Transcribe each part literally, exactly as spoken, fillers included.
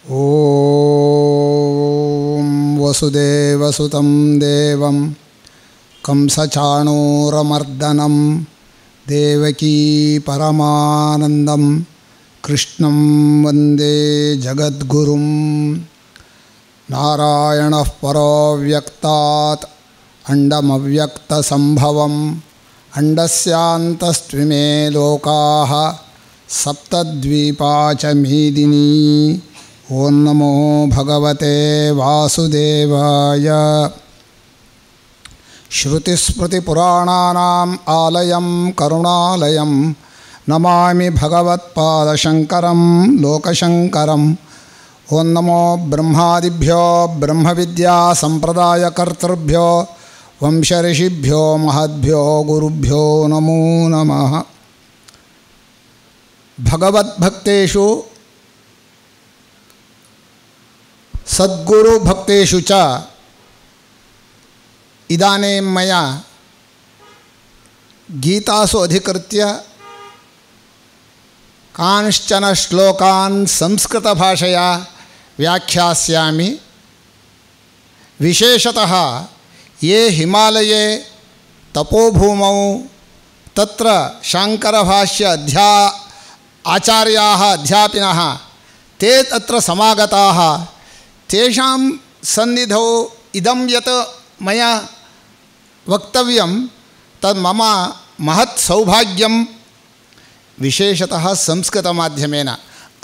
ॐ वसुदेवसुतं देवं कंसचाणूरमर्दनं देवकी परमानन्दं कृष्णं वन्दे जगद्गुरुं। नारायणः परो व्यक्तात् अण्डमव्यक्तसम्भवम् अण्डस्यान्तस्त्विमे लोकाः सप्तद्वीपा च मेदिनी। ॐ नमो भगवते वासुदेवाय। श्रुतिस्मृतिपुराणानाम् आलयं करुणालयं नमामि भगवत्पादशङ्करं लोकशङ्करम्। ॐ नमो ब्रह्मादिभ्यो ब्रह्मविद्यासम्प्रदायकर्तृभ्यो वंशऋषिभ्यो महद्भ्यो गुरुभ्यो नमो नमः। भगवद्भक्तेषु सद्गुरुभक्तेषु च इदानीं मया गीतासु अधिकृत्य कांश्चन श्लोकान् संस्कृतभाषया व्याख्यास्यामि। विशेषतः ये हिमालये तपोभूमौ तत्र शाङ्करभाष्य अध्या आचार्याः अध्यापिनः ते तत्र समागताः, तेषां सन्निधौ इदं यत् मया वक्तव्यं तद् मम महत् सौभाग्यं। विशेषतः संस्कृतमाध्यमेन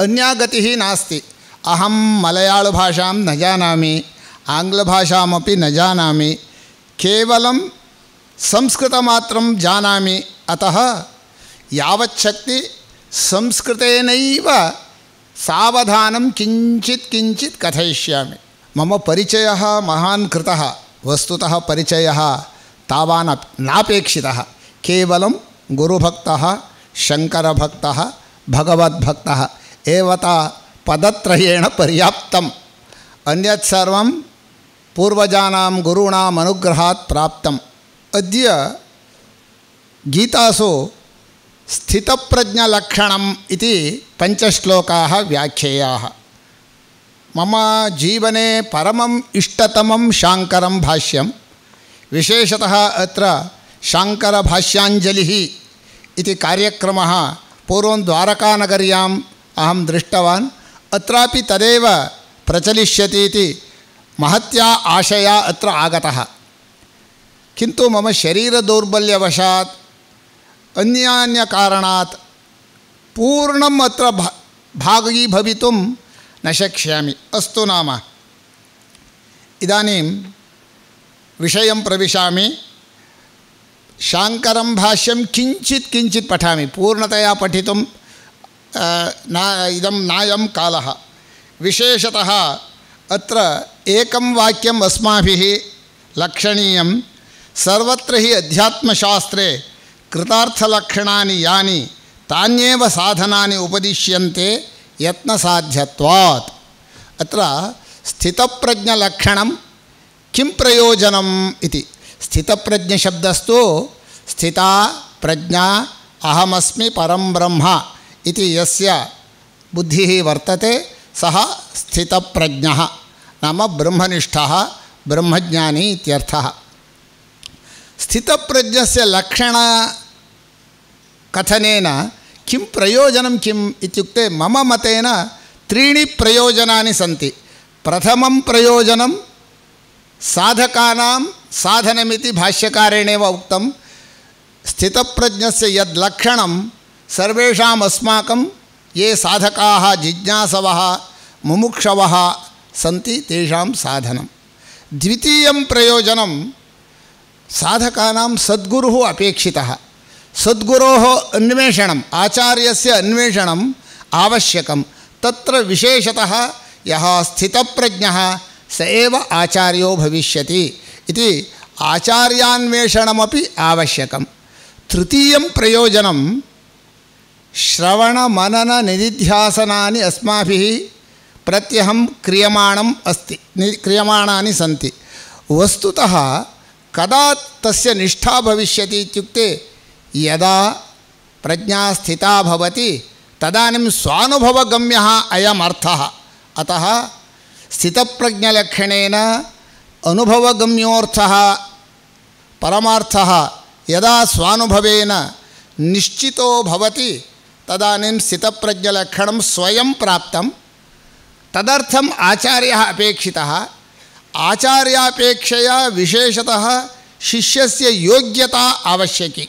अन्या गतिः नास्ति। अहं मलयाळभाषां न जानामि, आङ्ग्लभाषामपि न जानामि, केवलं संस्कृतमात्रं जानामि। अतः यावच्छक्ति संस्कृतेनैव सावधानं किञ्चित् किञ्चित् कथयिष्यामि। मम परिचयः महान् कृतः, वस्तुतः परिचयः तावान् नापेक्षितः। केवलं गुरुभक्तः, शङ्करभक्तः, भगवद्भक्तः एवता पदत्रयेण पर्याप्तम्। अन्यत् सर्वं पूर्वजानां गुरूणाम् अनुग्रहात् प्राप्तम्। अद्य गीतासु स्थितप्रज्ञलक्षणम् इति पञ्चश्लोकाः व्याख्येयाः। मम जीवने परमम् इष्टतमं शाङ्करं भाष्यं। विशेषतः अत्र शाङ्करभाष्याञ्जलिः इति कार्यक्रमः पूर्वं द्वारकानगर्याम् अहं दृष्टवान्। अत्रापि तदेव प्रचलिष्यति इति महत्या आशया अत्र आगतः। किन्तु मम शरीरदौर्बल्यवशात् अन्यान्यकारणात् पूर्णम् अत्र भा भागी भवितुं न शक्ष्यामि। अस्तु नाम इदानीं विषयं प्रविशामि। शाङ्करं भाष्यं किञ्चित् किञ्चित् पठामि, पूर्णतया पठितुं न इदं नायं कालः। विशेषतः अत्र एकं वाक्यम् अस्माभिः लक्षणीयं। सर्वत्र हि अध्यात्मशास्त्रे कृतार्थलक्षणानि यानि तान्येव साधनानि उपदिश्यन्ते यत्नसाध्यत्वात्। अत्र स्थितप्रज्ञलक्षणं किं प्रयोजनम् इति। स्थितप्रज्ञशब्दस्तु स्थिता प्रज्ञा अहमस्मि परं ब्रह्म इति यस्य बुद्धिः वर्तते सः स्थितप्रज्ञः नाम ब्रह्मनिष्ठः ब्रह्मज्ञानी इत्यर्थः। स्थितप्रज्ञस्य लक्षणकथनेन किं प्रयोजनं किम् इत्युक्ते मम मतेन त्रीणि प्रयोजनानि सन्ति। प्रथमं प्रयोजनं साधकानां साधनमिति भाष्यकारेणेव उक्तं। स्थितप्रज्ञस्य यद् लक्षणं सर्वेषाम् अस्माकं ये साधकाः जिज्ञासवः मुमुक्षवः सन्ति तेषां साधनं। द्वितीयं प्रयोजनं साधकानां सद्गुरुः अपेक्षितः। सद्गुरोः अन्वेषणम्, आचार्यस्य अन्वेषणम् आवश्यकं। तत्र विशेषतः यः स्थितप्रज्ञः स एव आचार्यो भविष्यति इति आचार्यान्वेषणमपि आवश्यकं। तृतीयं प्रयोजनं श्रवणमनननिदिध्यासनानि अस्माभिः प्रत्यहं क्रियमाणम् अस्ति, क्रियमाणानि सन्ति। वस्तुतः कदा तस्य निष्ठा भविष्यति इत्युक्ते यदा प्रज्ञा स्थिता भवति तदानीं स्वानुभवगम्यः अयम् अर्थः। अतः स्थितप्रज्ञलक्षणेन अनुभवगम्योऽर्थः परमार्थः यदा स्वानुभवेन निश्चितो भवति तदानीं स्थितप्रज्ञलक्षणं स्वयं प्राप्तं। तदर्थम् आचार्यः अपेक्षितः। आचार्यापेक्षया विशेषतः शिष्यस्य योग्यता आवश्यकी।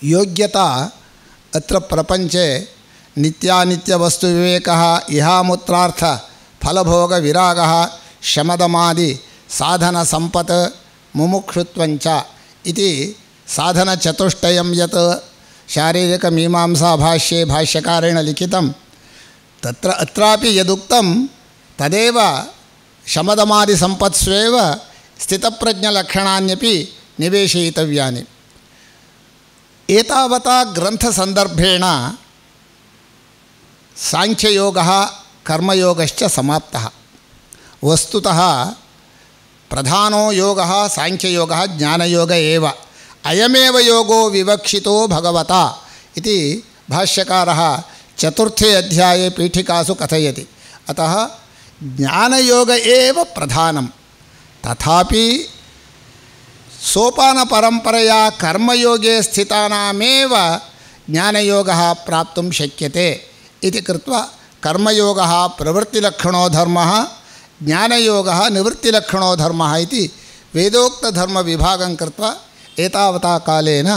योग्यता अत्र प्रपञ्चे नित्यानित्यवस्तुविवेकः, इहामुत्रार्थ फलभोगविरागः, शमदमादि साधनसम्पत्, मुमुक्षुत्वञ्च इति साधनचतुष्टयं यत् शारीरिकमीमांसाभाष्ये भाष्यकारेण लिखितं तत्र अत्रापि यदुक्तं तदेव शमदमादिसम्पत्स्वेव स्थितप्रज्ञलक्षणान्यपि निवेशयितव्यानि। एतावता ग्रन्थसन्दर्भेण सांख्ययोगः कर्मयोगश्च समाप्तः। वस्तुतः प्रधानो योगः सांख्ययोगः ज्ञानयोग एव। अयमेव योगो विवक्षितो भगवता इति भाष्यकारः चतुर्थे अध्याये पीठिकासु कथयति। अतः ज्ञानयोग एव प्रधानं। तथापि सोपानपरम्परया कर्मयोगे स्थितानामेव ज्ञानयोगः प्राप्तुं शक्यते इति कृत्वा कर्मयोगः प्रवृत्तिलक्षणो धर्मः, ज्ञानयोगः निवृत्तिलक्षणो धर्मः इति वेदोक्तधर्मविभागं कृत्वा एतावता कालेन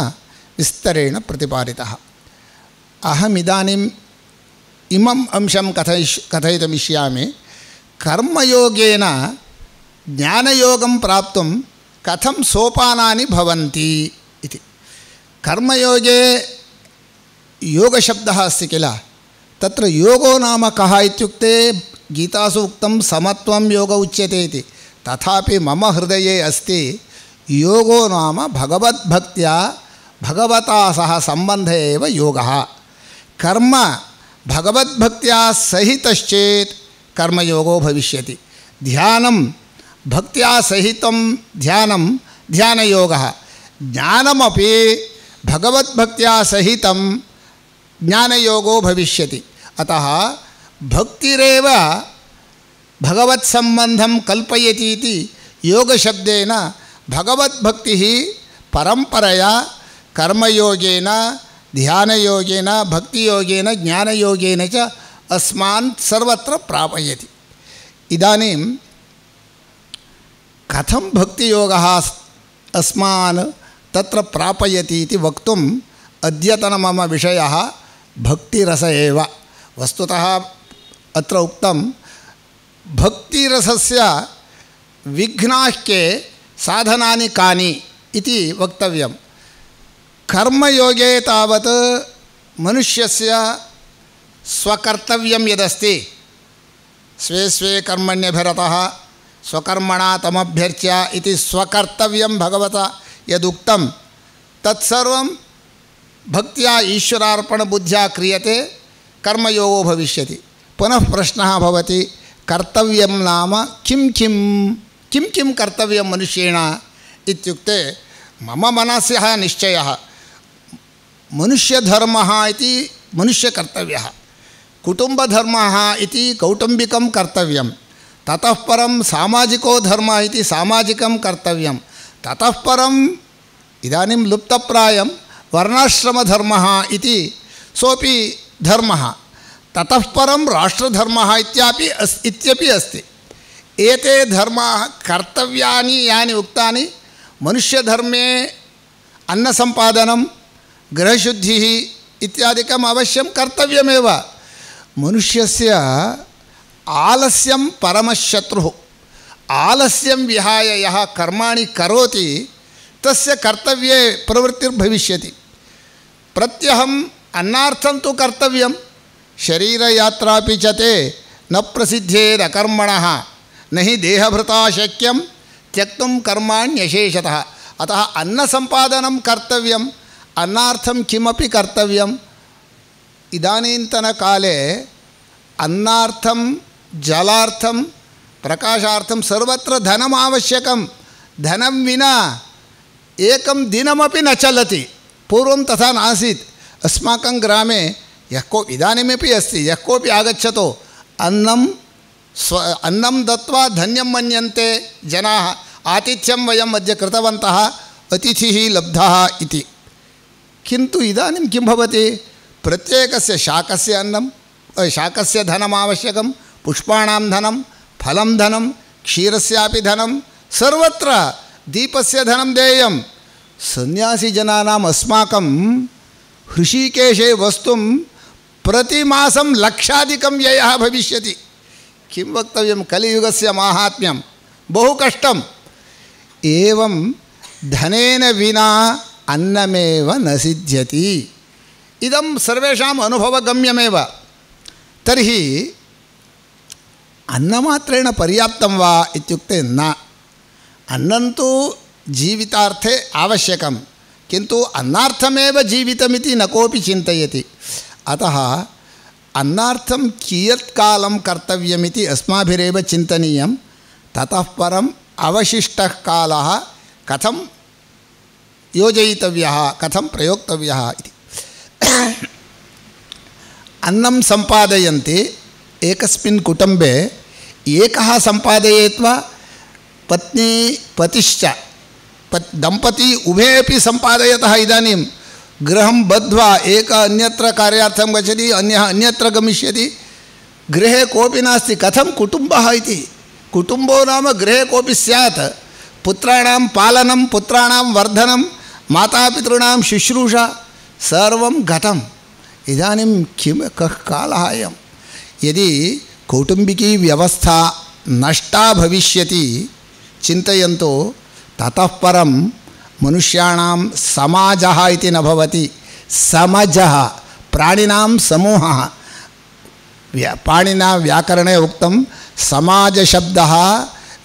विस्तरेण प्रतिपादितः। अहमिदानीम् इमम् अंशं कथयिष् कथयितुमिष्यामि। कर्मयोगेन ज्ञानयोगं प्राप्तुं कथं सोपानानि भवन्ति इति। कर्मयोगे योगशब्दः अस्ति किल, तत्र योगो नाम कः इत्युक्ते गीतासु उक्तं समत्वं योग उच्यते इति। तथापि मम हृदये अस्ति योगो नाम भगवद्भक्त्या भगवता सह सम्बन्ध एव योगः। कर्म भगवद्भक्त्या सहितश्चेत् कर्मयोगो भविष्यति। ध्यानं भक्त्या सहितं ध्यानं ध्यानयोगः। ज्ञानमपि भगवद्भक्त्या सहितं ज्ञानयोगो भविष्यति। अतः भक्तिरेव भगवत्सम्बन्धं कल्पयति इति योगशब्देन भगवद्भक्तिः परम्परया कर्मयोगेन ध्यानयोगेन भक्तियोगेन ज्ञानयोगेन च अस्मान् सर्वत्र प्रापयति। इदानीं कथं भक्तियोगः अस्मान् तत्र प्रापयति इति वक्तुम् अद्यतन मम विषयः भक्तिरस एव। वस्तुतः अत्र उक्तं भक्तिरसस्य विघ्नाः के साधनानि कानि इति वक्तव्यं। कर्मयोगे तावत् मनुष्यस्य स्वकर्तव्यं यदस्ति, स्वे स्वे कर्मण्यभिरतः स्वकर्मणा तमभ्यर्च्य इति स्वकर्तव्यं भगवता यदुक्तं तत्सर्वं भक्त्या ईश्वरार्पणबुद्ध्या क्रियते, कर्मयोगो भविष्यति। पुनः प्रश्नः भवति कर्तव्यं नाम किं किं किं किं कर्तव्यं मनुष्येण इत्युक्ते मम मनसः निश्चयः मनुष्यधर्मः इति मनुष्यकर्तव्यः, कुटुम्बधर्मः इति कौटुम्बिकं कर्तव्यं, ततः परं सामाजिको धर्मः इति सामाजिकं कर्तव्यं, ततः परम् इदानीं लुप्तप्रायं वर्णाश्रमधर्मः इति सोपि धर्मः, ततः परं राष्ट्रधर्मः इत्यापि अस् इत्यपि अस्ति। एते धर्माः कर्तव्यानि यानि उक्तानि मनुष्यधर्मे अन्नसम्पादनं गृहशुद्धिः इत्यादिकम् अवश्यं कर्तव्यमेव। मनुष्यस्य आलस्यं परमशत्रुः। आलस्यं विहाय यः कर्माणि करोति तस्य कर्तव्ये प्रवृत्तिर्भविष्यति। प्रत्यहम् अन्नार्थं तु कर्तव्यं, शरीरयात्रापि च ते न प्रसिद्धेदकर्मणः न हि देहभृता शक्यं त्यक्तुं कर्माण्यशेषतः। अतः अन्नसम्पादनं कर्तव्यम्, अन्नार्थं किमपि कर्तव्यम्। इदानीन्तनकाले अन्नार्थं जलार्थं प्रकाशार्थं सर्वत्र धनम् आवश्यकं। धनं विना एकं दिनमपि न चलति। पूर्वं तथा नासीत्। अस्माकं ग्रामे यः को इदानीमपि अस्ति, यः कोऽपि आगच्छतो अन्नं स्व अन्नं दत्वा धन्यं मन्यन्ते जनाः आतिथ्यं वयम् अद्य कृतवन्तः अतिथिः लब्धः इति। किन्तु इदानीं किं भवति प्रत्येकस्य शाकस्य अन्नं शाकस्य धनम् आवश्यकं, पुष्पाणां धनं, फलं धनं, क्षीरस्यापि धनं, सर्वत्र दीपस्य धनं देयं। सन्यासीजनानाम् अस्माकं हृषीकेशे वस्तुं प्रतिमासं लक्षाधिकं व्ययः भविष्यति। किं वक्तव्यं, कलियुगस्य माहात्म्यं बहु कष्टम्। एवं धनेन विना अन्नमेव न सिद्ध्यति। इदं सर्वेषाम् अनुभवगम्यमेव। तर्हि अन्नमात्रेण पर्याप्तं वा इत्युक्ते न। अन्नं तु जीवितार्थे आवश्यकं, किन्तु अन्नार्थमेव जीवितमिति न कोऽपि चिन्तयति। अतः अन्नार्थं कियत् कालं कर्तव्यमिति अस्माभिरेव चिन्तनीयं। ततः परम् अवशिष्टः कालः कथं योजयितव्यः, कथं प्रयोक्तव्यः इति। अन्नं सम्पादयन्ति एकस्मिन् कुटुम्बे एकः सम्पादयेत् वा पत्नी पतिश्च पत् दम्पती उभे अपि सम्पादयतः इदानीं गृहं बद्ध्वा एक अन्यत्र कार्यार्थं गच्छति, अन्यः अन्यत्र गमिष्यति, गृहे कोऽपि नास्ति, कथं कुटुम्बः इति। कुटुम्बो नाम गृहे कोऽपि स्यात्। पुत्राणां पालनं, पुत्राणां वर्धनं, मातापितॄणां शुश्रूषा सर्वं गतम्। इदानीं किं कः कालः अयं। यदि कौटुम्बिकी व्यवस्था नष्टा भविष्यति चिन्तयन्तु, ततः परं मनुष्याणां समाजः इति न भवति, समजः, प्राणिनां समूहः। व्या पाणिना व्याकरणे उक्तं समाजशब्दः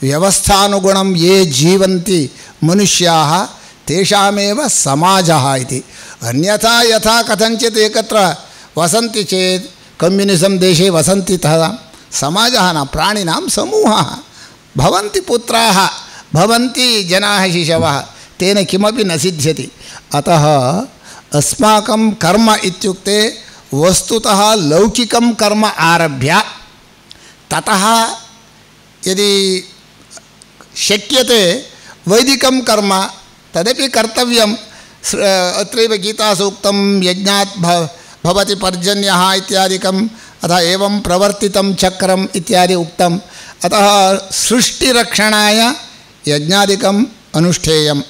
व्यवस्थानुगुणं ये जीवन्ति मनुष्याः तेषामेव समाजः इति। अन्यथा यथा कथञ्चित् एकत्र वसन्ति चेत् कम्युनिसम् देशे वसन्ति तथा समाजः न, प्राणिनां समूहः। भवन्ति पुत्राः, भवन्ति जनाः शिशवः, तेन किमपि न सिद्ध्यति। अतः अस्माकं कर्म इत्युक्ते वस्तुतः लौकिकं कर्म आरभ्य ततः यदि शक्यते वैदिकं कर्म तदपि कर्तव्यम्। अत्रैव गीतासूक्तं यज्ञात् भवति पर्जन्यः इत्यादिकम्, अतः एवं प्रवर्तितं चक्रम् इत्यादि उक्तम्। अतः सृष्टिरक्षणाय यज्ञादिकम् अनुष्ठेयम्।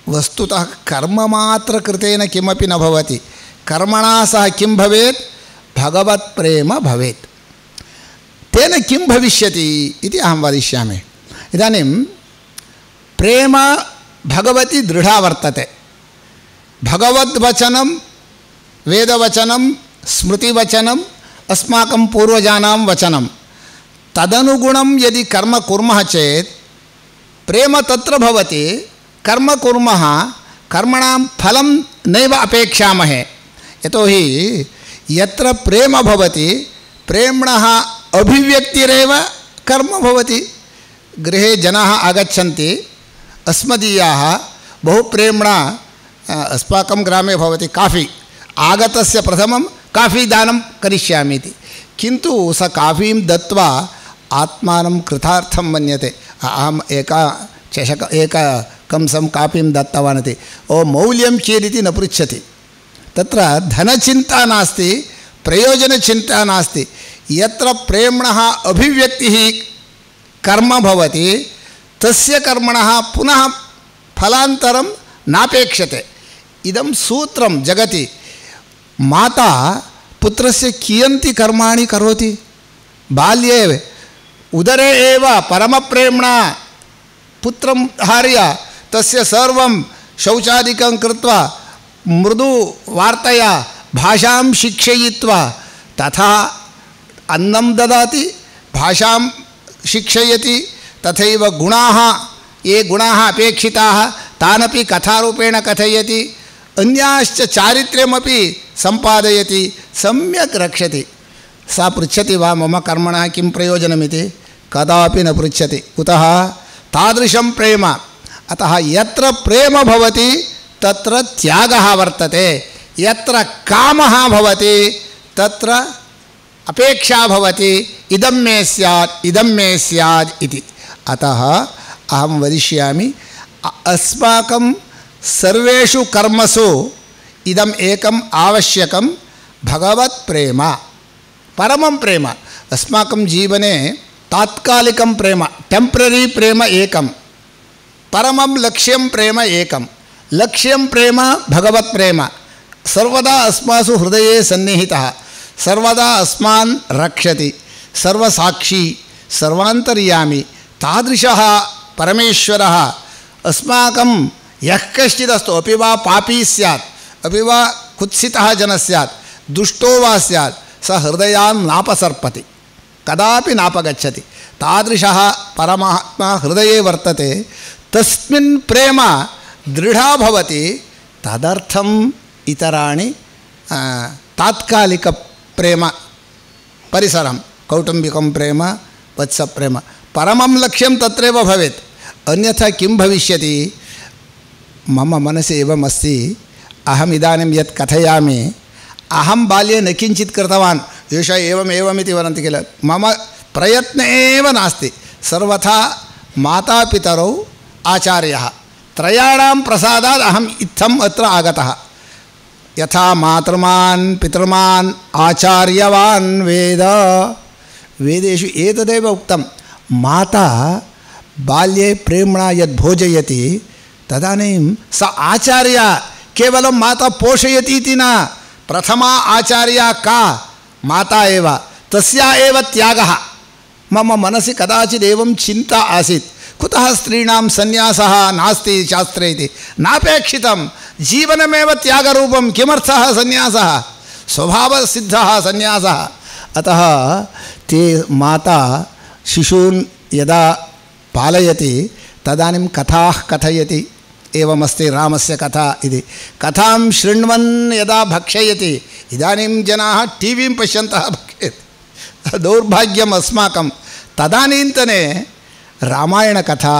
वस्तुतः कर्ममात्रकृतेन किमपि न भवति। कर्मणा सह किं भवेत्, भगवत्प्रेम भवेत्। तेन किं भविष्यति इति अहं वदिष्यामि। इदानीं प्रेम भगवती दृढा वर्तते। भगवद्वचनं, वेदवचनं, स्मृतिवचनम्, अस्माकं पूर्वजानां वचनं, तदनुगुणं यदि कर्म कुर्मः चेत् प्रेम तत्र भवति। कर्म कुर्मः, कर्मणां फलं नैव अपेक्षामहे। यतोहि यत्र प्रेम भवति प्रेम्णः अभिव्यक्तिरेव कर्म भवति। गृहे जनाः आगच्छन्ति, अस्मदीयाः बहु प्रेम्णा, अस्माकं ग्रामे भवति काफ़ी, आगतस्य प्रथमं काफ़ी दानं करिष्यामि इति। किन्तु स काफ़ीं दत्वा आत्मानं कृतार्थं मन्यते। अहम् एका चषक एक कंसं काफ़ीं दत्तवान् इति, ओ मौल्यं कियदिति न पृच्छति। तत्र धनचिन्ता नास्ति, प्रयोजनचिन्ता नास्ति। यत्र प्रेम्णः अभिव्यक्तिः कर्म भवति तस्य कर्मणः पुनः फलान्तरं नापेक्षते। इदं सूत्रं जगति। माता पुत्रस्य कियन्ति कर्माणि करोति। बाल्ये उदरे एव परमप्रेम्णा पुत्रं हार्य तस्य सर्वं शौचादिकं कृत्वा मृदु वार्तया भाषां शिक्षयित्वा तथा अन्नं ददाति, भाषां शिक्षयति, तथैव गुणाः ये गुणाः अपेक्षिताः तानपि कथारूपेण कथयति, अन्याश्च चारित्र्यमपि सम्पादयति, सम्यक् रक्षति। सा पृच्छति वा मम कर्मणः किं प्रयोजनमिति? कदापि न पृच्छति। कुतः? तादृशं प्रेम। अतः यत्र प्रेम भवति तत्र त्यागः वर्तते, यत्र कामः भवति तत्र अपेक्षा भवति इदं मे स्यात् इदं मे स्यात् इति। अतः अहं वदिष्यामि अस्माकं सर्वेषु कर्मसु इदम् एकम् आवश्यकं भगवत् प्रेम परमं प्रेम। अस्माकं जीवने तात्कालिकं प्रेम टेम्पररी प्रेम एकं, परमं लक्ष्यं प्रेम एकं। लक्ष्यं प्रेम भगवत् प्रेम सर्वदा अस्मासु हृदये सन्निहितः, सर्वदा अस्मान् रक्षति, सर्वसाक्षी सर्वान्तर्यामी तादृशः परमेश्वरः अस्माकं यः कश्चिदस्तु अपि वा पापी स्यात्, अपि वा कुत्सितः जनः स्यात्, दुष्टो वा स्यात्, सः हृदयान् नापसर्पति, कदापि नापगच्छति। तादृशः परमात्मा हृदये वर्तते। तस्मिन् प्रेम दृढा भवति। तदर्थम् इतराणि तात्कालिकप्रेम परिसरं कौटुम्बिकं प्रेम वत्सप्रेम परमं लक्ष्यं तत्रैव भवेत्। अन्यथा किं भविष्यति? मम मनसि एवमस्ति, अहम् इदानीं यत् कथयामि, अहं बाल्ये न किञ्चित् कृतवान्, एषः एवम् एवमिति वदन्ति किल, मम प्रयत्नः एव नास्ति। सर्वथा मातापितरौ आचार्यः त्रयाणां प्रसादात् अहम् इत्थम् अत्र आगतः। यथा मातृमान् पितृमान् आचार्यवान् वेद, वेदेषु एतदेव उक्तं। माता बाल्ये प्रेम्णा यद् भोजयति तदानीं स आचार्या, केवलं माता पोषयति इति न, प्रथमा आचार्या का माता एव, तस्या एव त्यागः। मम मनसि कदाचित् एवं चिन्ता आसीत्, कुतः स्त्रीणां सन्यासः नास्ति शास्त्रे इति। नापेक्षितं, जीवनमेव त्यागरूपं। किमर्थः सन्यासः? स्वभावसिद्धः सन्यासः। अतः ते माता शिशून् यदा पालयति तदानीं कथाः कथयति। एवमस्ति रामस्य कथा इति। कथां शृण्वन् यदा भक्षयति, इदानीं जनाः टीवीं पश्यन्तः भक्षयति, दौर्भाग्यम् अस्माकं। तदानीन्तने रामायणकथा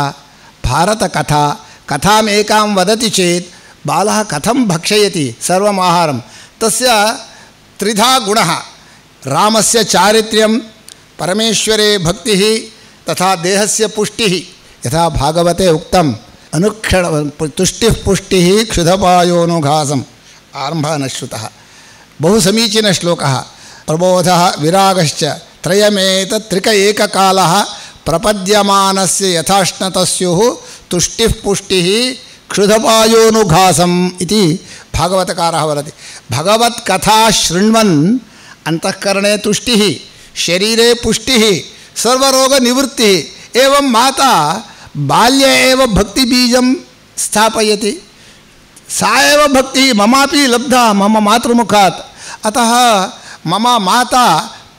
भारतकथा कथाम् एकां वदति चेत् बालः कथं भक्षयति सर्वम् आहारं। तस्य त्रिधा गुणः, रामस्य चारित्र्यं, परमेश्वरे भक्तिः, तथा देहस्य पुष्टिः। यथा भागवते उक्तम्, अनुक्षण तुष्टिः पुष्टिः क्षुधपायोनुघासम्, आरम्भः न श्रुतः। बहु समीचीनश्लोकः। प्रबोधः विरागश्च त्रयमेतत् त्रिक एककालः प्रपद्यमानस्य यथाश्नतस्युः तुष्टिः पुष्टिः क्षुधपायोनुघासम् इति भागवतकारः वदति। भगवत्कथा शृण्वन् अंतःकरणे तुष्टिः, शरीरे पुष्टिः, सर्वरोगनिवृत्तिः। एवं माता बाल्ये एव भक्तिबीजं स्थापयति। सा एव भक्तिः ममापि लब्धा मम मातृमुखात्। अतः मम माता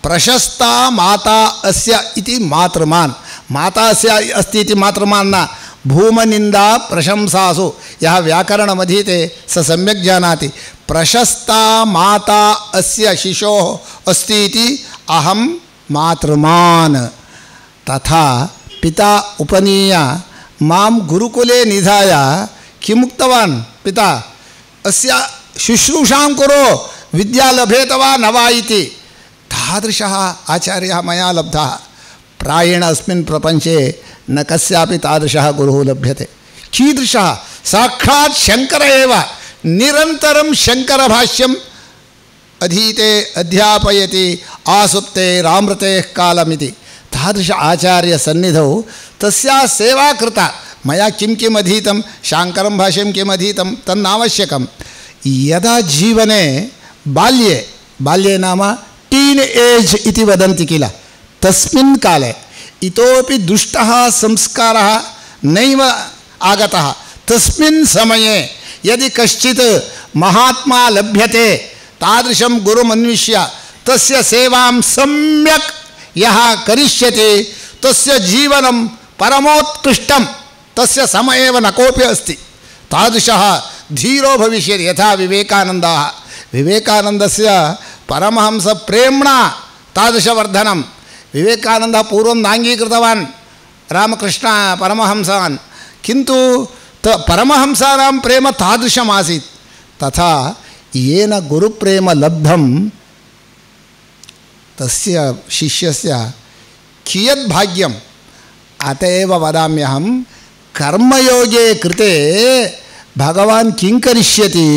प्रशस्ता माता अस्य इति मातृमान्। माता अस्य अस्ति इति मातृमान् न। भूमनिन्दा प्रशंसासु यः व्याकरणमधीते स सम्यक् जानाति। प्रशस्ता माता अस्य शिशोः अस्ति इति अहं मातृमान्। तथा पिता उपनीय मां गुरुकुले निधाय किमुक्तवान् पिता, अस्य शुश्रूषां कुरु, विद्या लभेत वा न वा इति। तादृशः आचार्यः मया लब्धः। प्रायेण अस्मिन् प्रपञ्चे न कस्यापि तादृशः गुरुः लभ्यते। कीदृशः? साक्षात् शङ्कर एव। निरन्तरं शङ्करभाष्यम् अधीते अध्यापयति आसुप्ते रामृतेः कालमिति। तादृश आचार्यसन्निधौ तस्याः सेवा कृता। मया किं किम् अधीतं, शाङ्करं भाष्यं किम् अधीतं तन्नावश्यकं। यदा जीवने बाल्ये, बाल्ये नाम टीन् एज् इति वदन्ति किल, तस्मिन् काले इतोपि दुष्टः संस्कारः नैव आगतः। तस्मिन् समये यदि कश्चित् महात्मा लभ्यते, तादृशं गुरुमन्विष्य तस्य सेवां सम्यक् यः करिष्यति, तस्य जीवनं परमोत्कृष्टं, तस्य समये एव न कोऽपि अस्ति। तादृशः धीरो भविष्यति। यथा विवेकानन्दः, विवेकानन्दस्य परमहंसप्रेम्णा तादृशवर्धनं। विवेकानन्दः पूर्वं नाङ्गीकृतवान् रामकृष्ण परमहंसान्, किन्तु त परमहंसानां प्रेम तादृशमासीत्। तथा येन गुरुप्रेम लब्धं तस्य शिष्यस्य कियत् भाग्यम् अत एव वदाम्यहं कर्मयोगे कृते भगवान् किं करिष्यति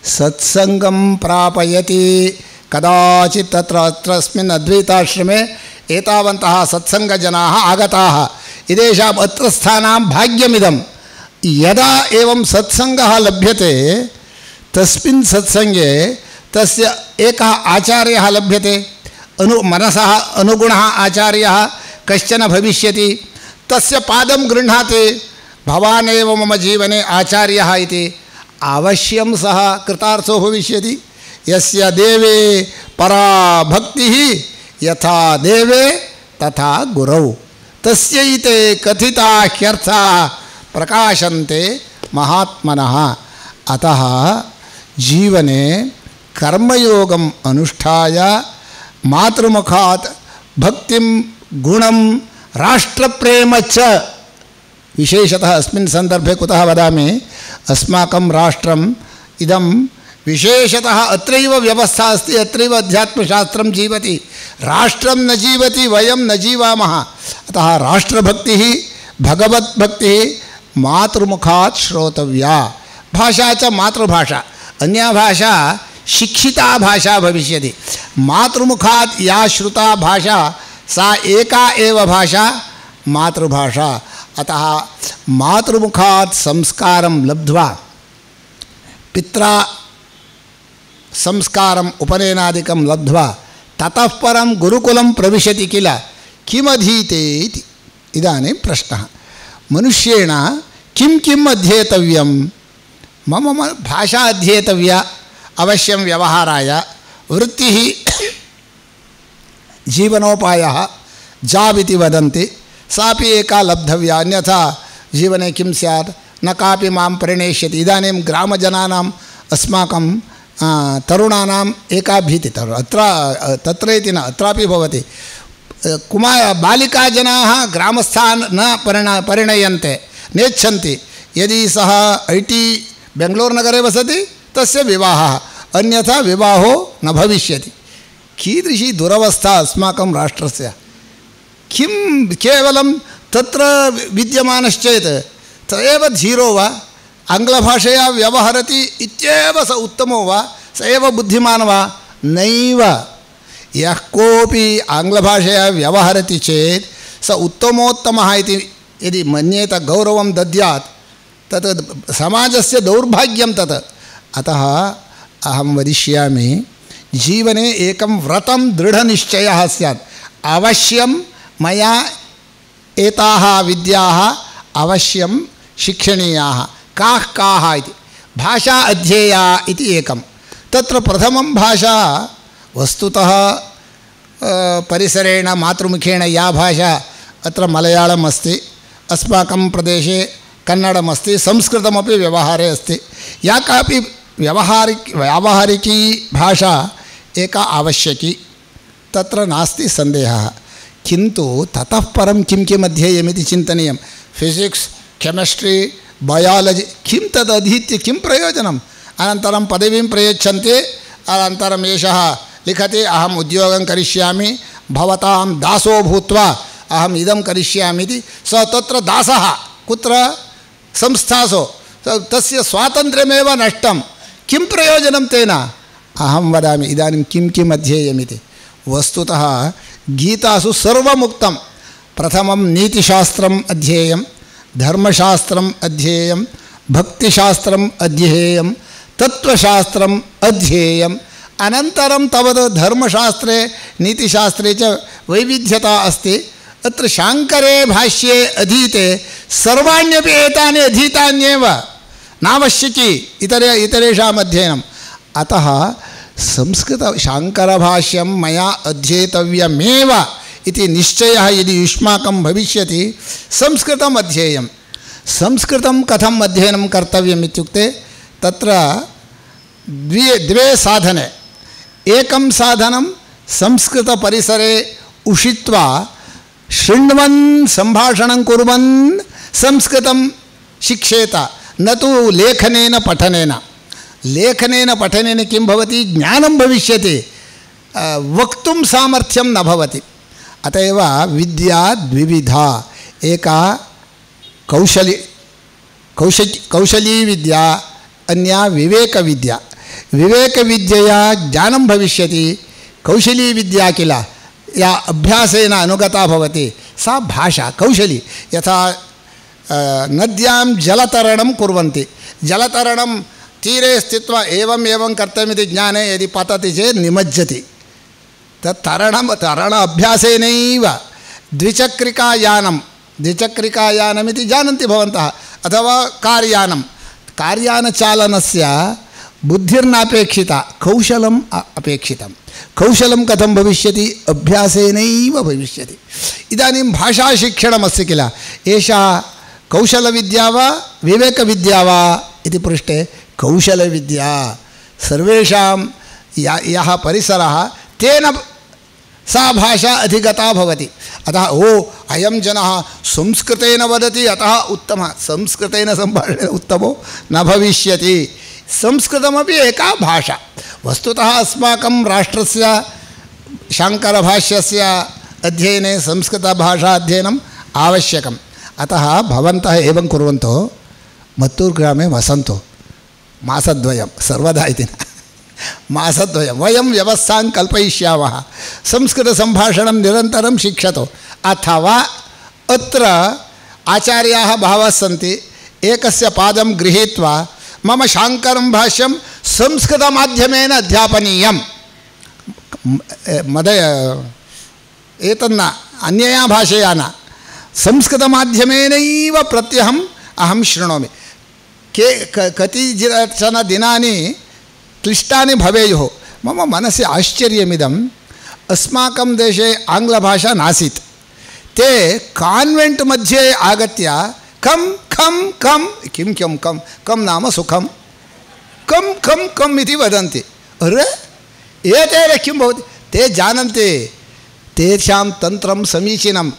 सत्संगं प्रापयति कदाचित् तत्र अत्रस्मिन् अद्वैताश्रमे एतावन्तः सत्संगजनाः आगताः इदेषाम् अत्रस्थानां भाग्यमिदं यदा एवं सत्संगः लभ्यते तस्मिन् सत्संगे तस्य एकः आचार्यः लभ्यते अनु मनसः अनुगुणः आचार्यः कश्चन भविष्यति तस्य पादं गृह्णाति भवान् एव मम जीवने आचार्यः इति अवश्यं सः कृतार्थो भविष्यति यस्य देवे परा भक्तिः यथा देवे तथा गुरौ तस्यैते कथिता ह्यर्थाः प्रकाशन्ते महात्मनः अतः जीवने कर्मयोगम् अनुष्ठाय मातृमुखात् भक्तिं गुणं राष्ट्रप्रेम च विशेषतः अस्मिन् सन्दर्भे कुतः वदामि अस्माकं राष्ट्रम् इदं विशेषतः अत्रैव व्यवस्था अस्ति अत्रैव अध्यात्मशास्त्रं जीवति राष्ट्रं न जीवति वयं न जीवामः अतः राष्ट्रभक्तिः भगवद्भक्तिः मातृमुखात् श्रोतव्या भाषा च मातृभाषा अन्या भाषा शिक्षिता भाषा भविष्यति मातृमुखात् या श्रुता भाषा सा एका एव भाषा मातृभाषा अतः मातृमुखात् संस्कारं लब्ध्वा पित्रा संस्कारम् उपनयनादिकं लब्ध्वा ततः परं गुरुकुलं प्रविशति किल किमधीते इति इदानीं प्रश्नः मनुष्येण किं किम् अध्येतव्यं मम भाषा अध्येतव्या अवश्यं व्यवहाराय वृत्तिः जीवनोपायः जाब् इति वदन्ति सापि एका लब्धव्या अन्यथा जीवने किं स्यात् न कापि मां परिणेष्यति इदानीं ग्रामजनानाम् अस्माकं तरुणानाम् एका भीतिः अत्र तत्र इति न अत्रापि भवति कुमार बालिकाजनाः ग्रामस्थान् न परिण परिणयन्ते नेच्छन्ति यदि सः ऐ टी बेङ्गलूरुनगरे वसति तस्य विवाहः अन्यथा विवाहो न भविष्यति कीदृशी दुरवस्था अस्माकं राष्ट्रस्य किं केवलं तत्र विद्यमानश्चेत् स एव धीरो वा आङ्ग्लभाषया व्यवहरति इत्येव स उत्तमो वा स एव बुद्धिमान् वा नैव यः कोऽपि आङ्ग्लभाषया व्यवहरति चेत् स उत्तमोत्तमः इति यदि मन्येत गौरवं दद्यात् तत् समाजस्य दौर्भाग्यं तत् अतः अहं वदिष्यामि जीवने एकं व्रतं दृढनिश्चयः स्यात् अवश्यं मया एताः विद्याः अवश्यं शिक्षणीयाः काः काः इति भाषा अध्येया इति एकं तत्र प्रथमं भाषा वस्तुतः परिसरेण मातृमुखेन या भाषा अत्र मलयाळम् अस्ति अस्माकं प्रदेशे कन्नडम् अस्ति संस्कृतमपि व्यवहारे अस्ति या कापि व्यवहारिक व्यावहारिकी भाषा एका आवश्यकी तत्र नास्ति सन्देहः किन्तु ततः परं किं किम् अध्येयमिति चिन्तनीयं फिजिक्स् केमिस्ट्री बयालजि किं तद् अधीत्य किं प्रयोजनम् अनन्तरं पदवीं प्रयच्छन्ति अनन्तरम् एषः लिखति अहम् उद्योगं करिष्यामि भवतां दासो भूत्वा अहम् इदं करिष्यामि इति स तत्र दासः कुत्र संस्थासु तस्य स्वातन्त्र्यमेव नष्टं किं प्रयोजनं तेन अहं वदामि इदानीं किं किम् अध्येयमिति वस्तुतः गीतासु सर्वमुक्तं प्रथमं नीतिशास्त्रम् अध्येयं धर्मशास्त्रम् अध्येयं भक्तिशास्त्रम् अध्येयं तत्त्वशास्त्रम् अध्येयम् अनन्तरं तावत् धर्मशास्त्रे नीतिशास्त्रे च वैविध्यता अस्ति अत्र शाङ्करे भाष्ये अधीते सर्वाण्यपि एतानि अधीतान्येव नावश्यकी इतरे इतरेषाम् अध्ययनम् अतः संस्कृत शाङ्करभाष्यं मया अध्येतव्यमेव इति निश्चयः यदि युष्माकं भविष्यति संस्कृतम् अध्येयं संस्कृतं कथम् अध्ययनं कर्तव्यम् इत्युक्ते तत्र द्वे द्वे साधने एकं साधनं संस्कृतपरिसरे उषित्वा शृण्वन् सम्भाषणं कुर्वन् संस्कृतं शिक्षेत न तु लेखनेन पठनेन लेखनेन पठनेन किं भवति ज्ञानं भविष्यति वक्तुं सामर्थ्यं न भवति। अत एव विद्या द्विविधा, एका कौशली कौश कौशली विद्या, अन्या विवेकविद्या। विवेकविद्यया ज्ञानं भविष्यति, कौशली विद्या किल या अभ्यासेन अनुगता भवति सा भाषा कौशली। यथा नद्यां जलतरणं कुर्वन्ति, जलतरणं तीरे स्थित्वा एवं एवं कर्तव्यमिति ज्ञाने यदि पतति चेत् निमज्जति। तत् तरणं तरण अभ्यासेनैव। द्विचक्रिकायानं द्विचक्रिकायानमिति जानन्ति भवन्तः, अथवा कार्यानं, कार्यानचालनस्य बुद्धिर्नापेक्षिता, कौशलम् अपेक्षितं। कौशलं कथं भविष्यति? अभ्यासेनैव भविष्यति। इदानीं भाषाशिक्षणमस्ति किल, एषा कौशलविद्या वा विवेकविद्या वा इति पृष्टे कौशलविद्या। सर्वेषां या यः परिसरः तेन सा भाषा अधिगता भवति। अतः ओ अयं जनः संस्कृतेन वदति अतः उत्तमः, संस्कृतेन सम्भाषणेन उत्तमो न भविष्यति। संस्कृतमपि एका भाषा। वस्तुतः अस्माकं राष्ट्रस्य शाङ्करभाष्यस्य अध्ययने संस्कृतभाषा अध्ययनम् आवश्यकम्। अतः भवन्तः एवं कुर्वन्तु, मत्तूर् ग्रामे वसन्तु मासद्वयं, सर्वदा इति न, मासद्वयं वयं व्यवस्थां कल्पयिष्यामः। संस्कृतसम्भाषणं निरन्तरं शिक्षतु। अथवा अत्र आचार्याः बहवः सन्ति, एकस्य पादं गृहीत्वा मम शाङ्करं भाष्यं संस्कृतमाध्यमेन अध्यापनीयं, मद एतन्न अन्यया भाषया न, संस्कृतमाध्यमेनैव प्रत्यहम् अहं शृणोमि। के कतिचन दिनानि क्लिष्टानि भवेयुः। मम मनसि आश्चर्यमिदम्, अस्माकं देशे आङ्ग्लभाषा नासीत्, ते कान्वेण्ट् मध्ये आगत्य कं खं कं किं किं कं कं नाम सुखं, कं खं कम् इति वदन्ति। अरे एतेन किं भवति? ते जानन्ति तेषां तन्त्रं समीचीनं।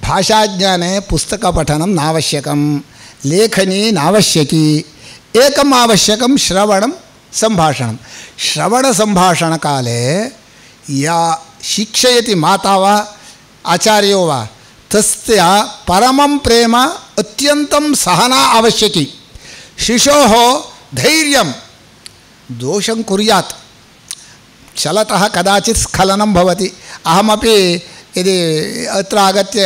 भाषाज्ञाने पुस्तकपठनं नावश्यकं, लेखनी नावश्यकी, एकम् आवश्यकं श्रवणं सम्भाषणं। श्रवणसम्भाषणकाले या शिक्षयति माता वा आचार्यो वा तस्य परमं प्रेम, अत्यन्तं सहना आवश्यकी। शिशोः धैर्यं, दोषं कुर्यात्, चलतः कदाचित् स्खलनं भवति। अहमपि यदि अत्र आगत्य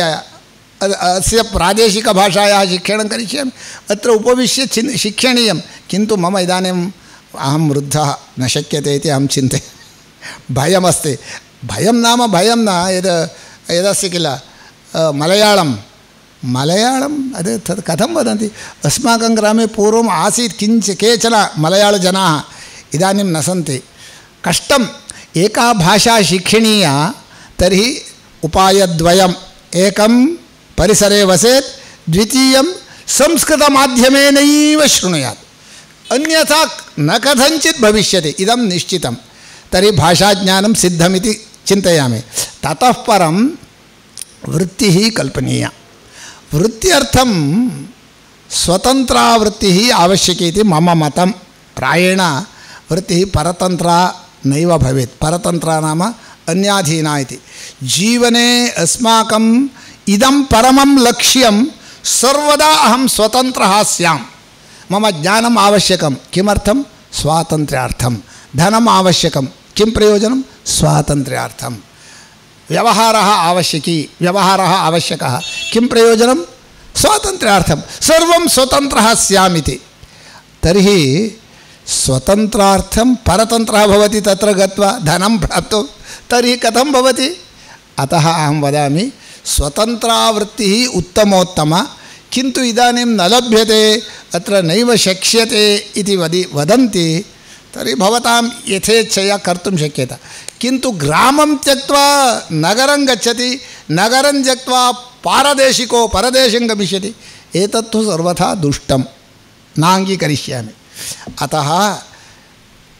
अस्य प्रादेशिकभाषायाः शिक्षणं करिष्यामि, अत्र उपविश्य चिन् शिक्षणीयं, किन्तु मम इदानीम् अहं वृद्धः, न शक्यते इति अहं चिन्तयामि। भयमस्ति। भयं नाम भयं न, यद् यदस्ति किल मलयाळं, मलयाळम् अद् तत् कथं वदन्ति? अस्माकं ग्रामे पूर्वम् आसीत् किञ्चित् केचन मलयाळजनाः, इदानीं न सन्ति। कष्टम्। एका भाषा शिक्षणीया तर्हि उपायद्वयम्, एकं परिसरे वसेत्, द्वितीयं संस्कृतमाध्यमेनैव शृणुयात्, अन्यथा न कथञ्चित् भविष्यति, इदं निश्चितं। तर्हि भाषाज्ञानं सिद्धमिति चिन्तयामि। ततः परं वृत्तिः कल्पनीया। वृत्त्यर्थं स्वतन्त्रावृत्तिः आवश्यकी इति मम मतं। प्रायेण वृत्तिः परतन्त्रा नैव भवेत्। परतन्त्रा नाम अन्याधीना इति। जीवने अस्माकम् इदं परमं लक्ष्यं, सर्वदा अहं स्वतन्त्रः स्याम्। मम ज्ञानम् आवश्यकं, किमर्थं? स्वातन्त्र्यार्थं। धनम् आवश्यकं, किं प्रयोजनं? स्वातन्त्र्यार्थं। व्यवहारः आवश्यकी, व्यवहारः आवश्यकः, किं प्रयोजनं? स्वातन्त्र्यार्थं। सर्वं स्वतन्त्रः स्यामिति। तर्हि स्वतन्त्रार्थं परतन्त्रः भवति तत्र गत्वा धनं प्राप्तुं, तर्हि कथं भवति? अतः अहं वदामि स्वतन्त्रावृत्तिः उत्तमोत्तमा, किन्तु इदानीं न लभ्यते, अत्र नैव शक्यते इति वदि वदन्ति। तर्हि भवतां यथेच्छया कर्तुं शक्यते। किन्तु ग्रामं त्यक्त्वा नगरं गच्छति, नगरं त्यक्त्वा पारदेशिको परदेशं गमिष्यति, एतत्तु सर्वथा दुष्टं, नाङ्गीकरिष्यामि। अतः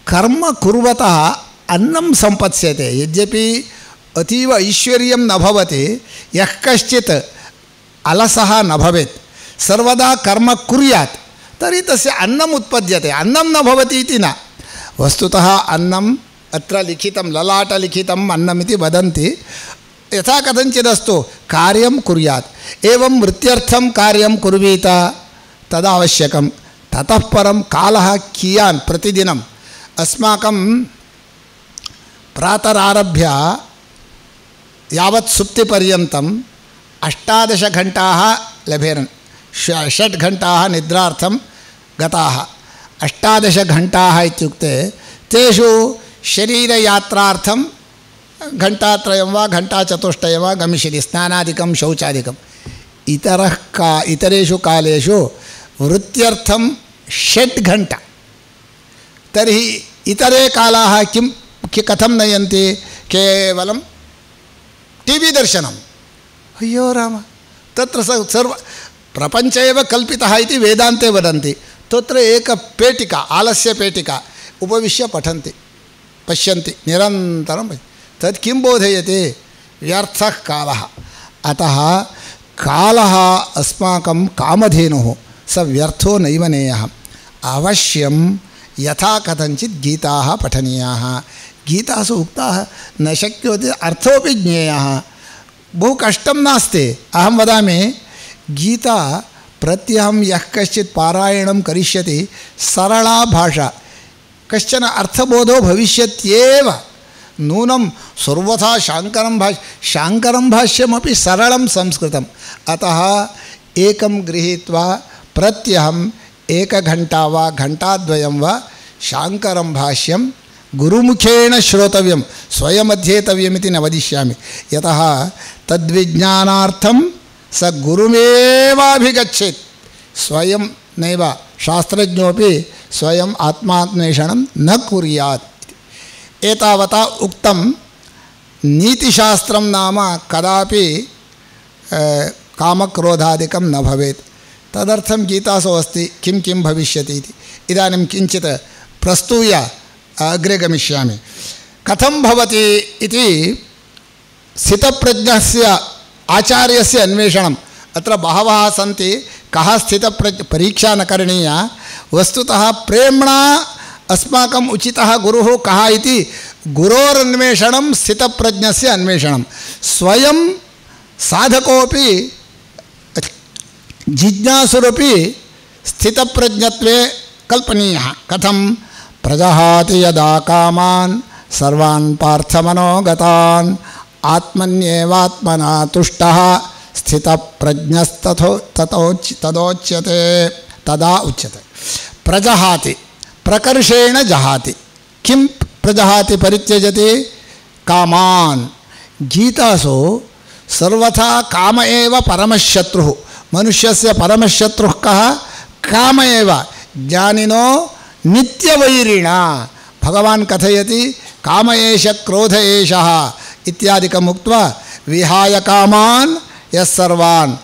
कर्म कुर्वतः अन्नं सम्पत्स्यते। यद्यपि अतीव ऐश्वर्यं न भवति, यः कश्चित् अलसः न भवेत्, सर्वदा कर्म कुर्यात्, तर्हि तस्य अन्नम् उत्पद्यते। अन्नं न भवति इति न, वस्तुतः अन्नं अत्र लिखितं ललाटलिखितम् अन्नमिति वदन्ति यथा कथञ्चिदस्तु कार्यं कुर्यात् एवं वृत्त्यर्थं कार्यं कुर्वीत तदावश्यकं ततः परं कालः कियान् प्रतिदिनम् अस्माकं प्रातरारभ्य यावत् सुप्तिपर्यन्तम् अष्टादशघण्टाः लभेरन् षट् घण्टाः निद्रार्थं गताः अष्टादशघण्टाः इत्युक्ते तेषु शरीरयात्रार्थं घण्टात्रयं वा घण्टाचतुष्टयं वा गमिष्यति स्नानादिकं शौचादिकम् इतरः का इतरेषु कालेषु वृत्त्यर्थं षट् घण्टा तर्हि इतरे कालाः किं कथं नयन्ति केवलं टी वी दर्शनम् अय्यो राम तत्र सर्व प्रपञ्च एव कल्पितः इति वेदान्ते वदन्ति तत्र एका पेटिका आलस्यपेटिका उपविश्य पठन्ति पश्यन्ति निरन्तरं तत् किं बोधयति व्यर्थः कालः अतः कालः अस्माकं कामधेनुः स व्यर्थो नैव नेयः अवश्यं यथा कथञ्चित् गीताः पठनीयाः गीतासु उक्ताः न शक्यते अर्थोपि ज्ञेयः बहु कष्टं नास्ति अहं वदामि गीता प्रत्यहं यः कश्चित् पारायणं करिष्यति सरला भाषा कश्चन अर्थबोधो भविष्यत्येव नूनं सर्वथा शाङ्करं भाष्य शाङ्करं भाष्यमपि सरलं संस्कृतम् अतः एकं गृहीत्वा प्रत्यहम् एकघण्टा वा घण्टाद्वयं वा शाङ्करं भाष्यं गुरुमुखेन श्रोतव्यं स्वयमध्येतव्यमिति न वदिष्यामि यतः तद्विज्ञानार्थं स गुरुमेवाभिगच्छेत् स्वयं नैव शास्त्रज्ञोपि स्वयम् आत्मान्वेषणं न कुर्यात् एतावता उक्तं नीतिशास्त्रं नाम कदापि कामक्रोधादिकं न भवेत् तदर्थं गीतासु अस्ति किं किं भविष्यति इति इदानीं किञ्चित् प्रस्तूय अग्रे गमिष्यामि कथं भवति इति स्थितप्रज्ञस्य आचार्यस्य अन्वेषणम् अत्र बहवः सन्ति कः स्थितप्रज्ञ परीक्षा न करणीया वस्तुतः प्रेम्णा अस्माकम् उचितः गुरुः कः इति गुरोरन्वेषणं स्थितप्रज्ञस्य अन्वेषणं स्वयं साधकोपि जिज्ञासुरपि स्थितप्रज्ञत्वे कल्पनीयः कथं प्रजहाति यदा कामान् सर्वान् पार्थमनोगतान् आत्मन्येवात्मना तुष्टः स्थितप्रज्ञस्तथो ततोच् तदोच्यते तदा उच्यते प्रजहाति प्रकर्षेण जहाति किं प्रजहाति परित्यजति कामान् गीतासु सर्वथा काम एव परमशत्रुः मनुष्यस्य परमशत्रुः कः काम एव ज्ञानिनो नित्यवैरिणा भगवान् कथयति काम एष क्रोध एषः इत्यादिकम् उक्त्वा विहाय कामान् यः सर्वान्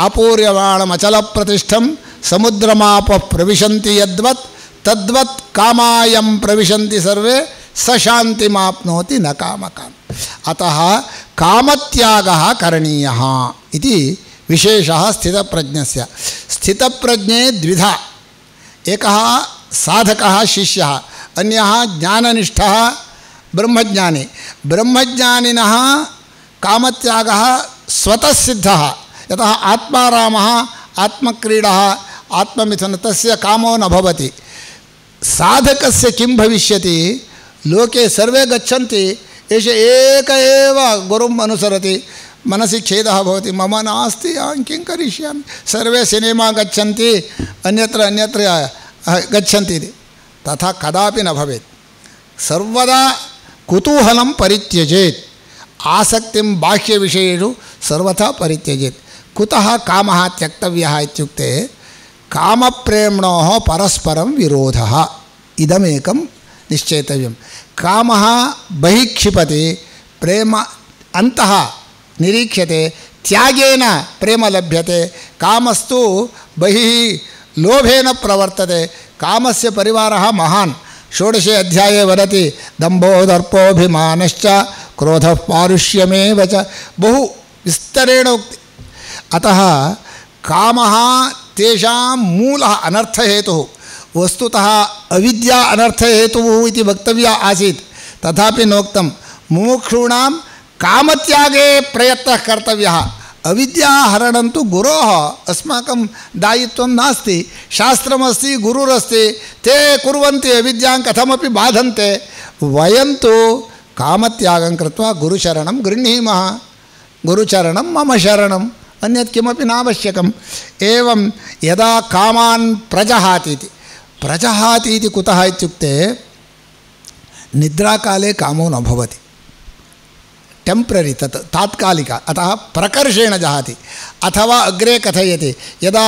आपूर्यमाणमचलप्रतिष्ठं समुद्रमापः प्रविशन्ति यद्वत् तद्वत् कामायं प्रविशन्ति सर्वे स शान्तिमाप्नोति न कामकाम् अतः कामत्यागः करणीयः इति विशेषः स्थितप्रज्ञस्य स्थितप्रज्ञे द्विधा एकः साधकः शिष्यः अन्यः ज्ञाननिष्ठः ब्रह्मज्ञानी ब्रह्मज्ञानिनः कामत्यागः स्वतः सिद्धः यतः आत्मारामः आत्मक्रीडः आत्ममिथुन तस्य कामो न भवति साधकस्य किं भविष्यति लोके सर्वे गच्छन्ति एष एक एव गुरुम् अनुसरति मनसि खेदः भवति मम नास्ति अहं किं करिष्यामि सर्वे सिनेमा गच्छन्ति अन्यत्र अन्यत्र गच्छन्ति तथा कदापि न भवेत् सर्वदा कुतूहलं परित्यजेत् आसक्तिं बाह्यविषयेषु सर्वथा परित्यजेत् कुतः कामः त्यक्तव्यः इत्युक्ते कामप्रेम्णोः परस्परं विरोधः इदमेकं निश्चेतव्यं कामः बहिः क्षिपति प्रेम अन्तः निरीक्ष्यते त्यागेन प्रेम लभ्यते कामस्तु बहिः लोभेन प्रवर्तते कामस्य परिवारः महान् षोडशे अध्याये वदति दम्भो दर्पोऽभिमानश्च क्रोधः पारुष्यमेव च बहु विस्तरेण उक्ति अतः कामः तेषां मूलः अनर्थहेतुः वस्तुतः अविद्या अनर्थहेतुः इति वक्तव्या आसीत् तथापि नोक्तं मुमुक्षूणां कामत्यागे प्रयत्नः कर्तव्यः। अविद्याहरणं तु गुरोः अस्माकं दायित्वं नास्ति। शास्त्रमस्ति, गुरुरस्ति, ते कुर्वन्ति, अविद्यां कथमपि बाधन्ते। वयं तु कामत्यागं कृत्वा गुरुशरणं गृह्णीमः। गुरुचरणं मम शरणम्, अन्यत् किमपि नावश्यकम्। एवं यदा कामान् प्रजहाति इति प्रजहाति इति कुतः इत्युक्ते निद्राकाले कामो न भवति, टेम्प्ररी, तत् तात्कालिक, अतः प्रकर्षेण जहाति। अथवा अग्रे कथयति यदा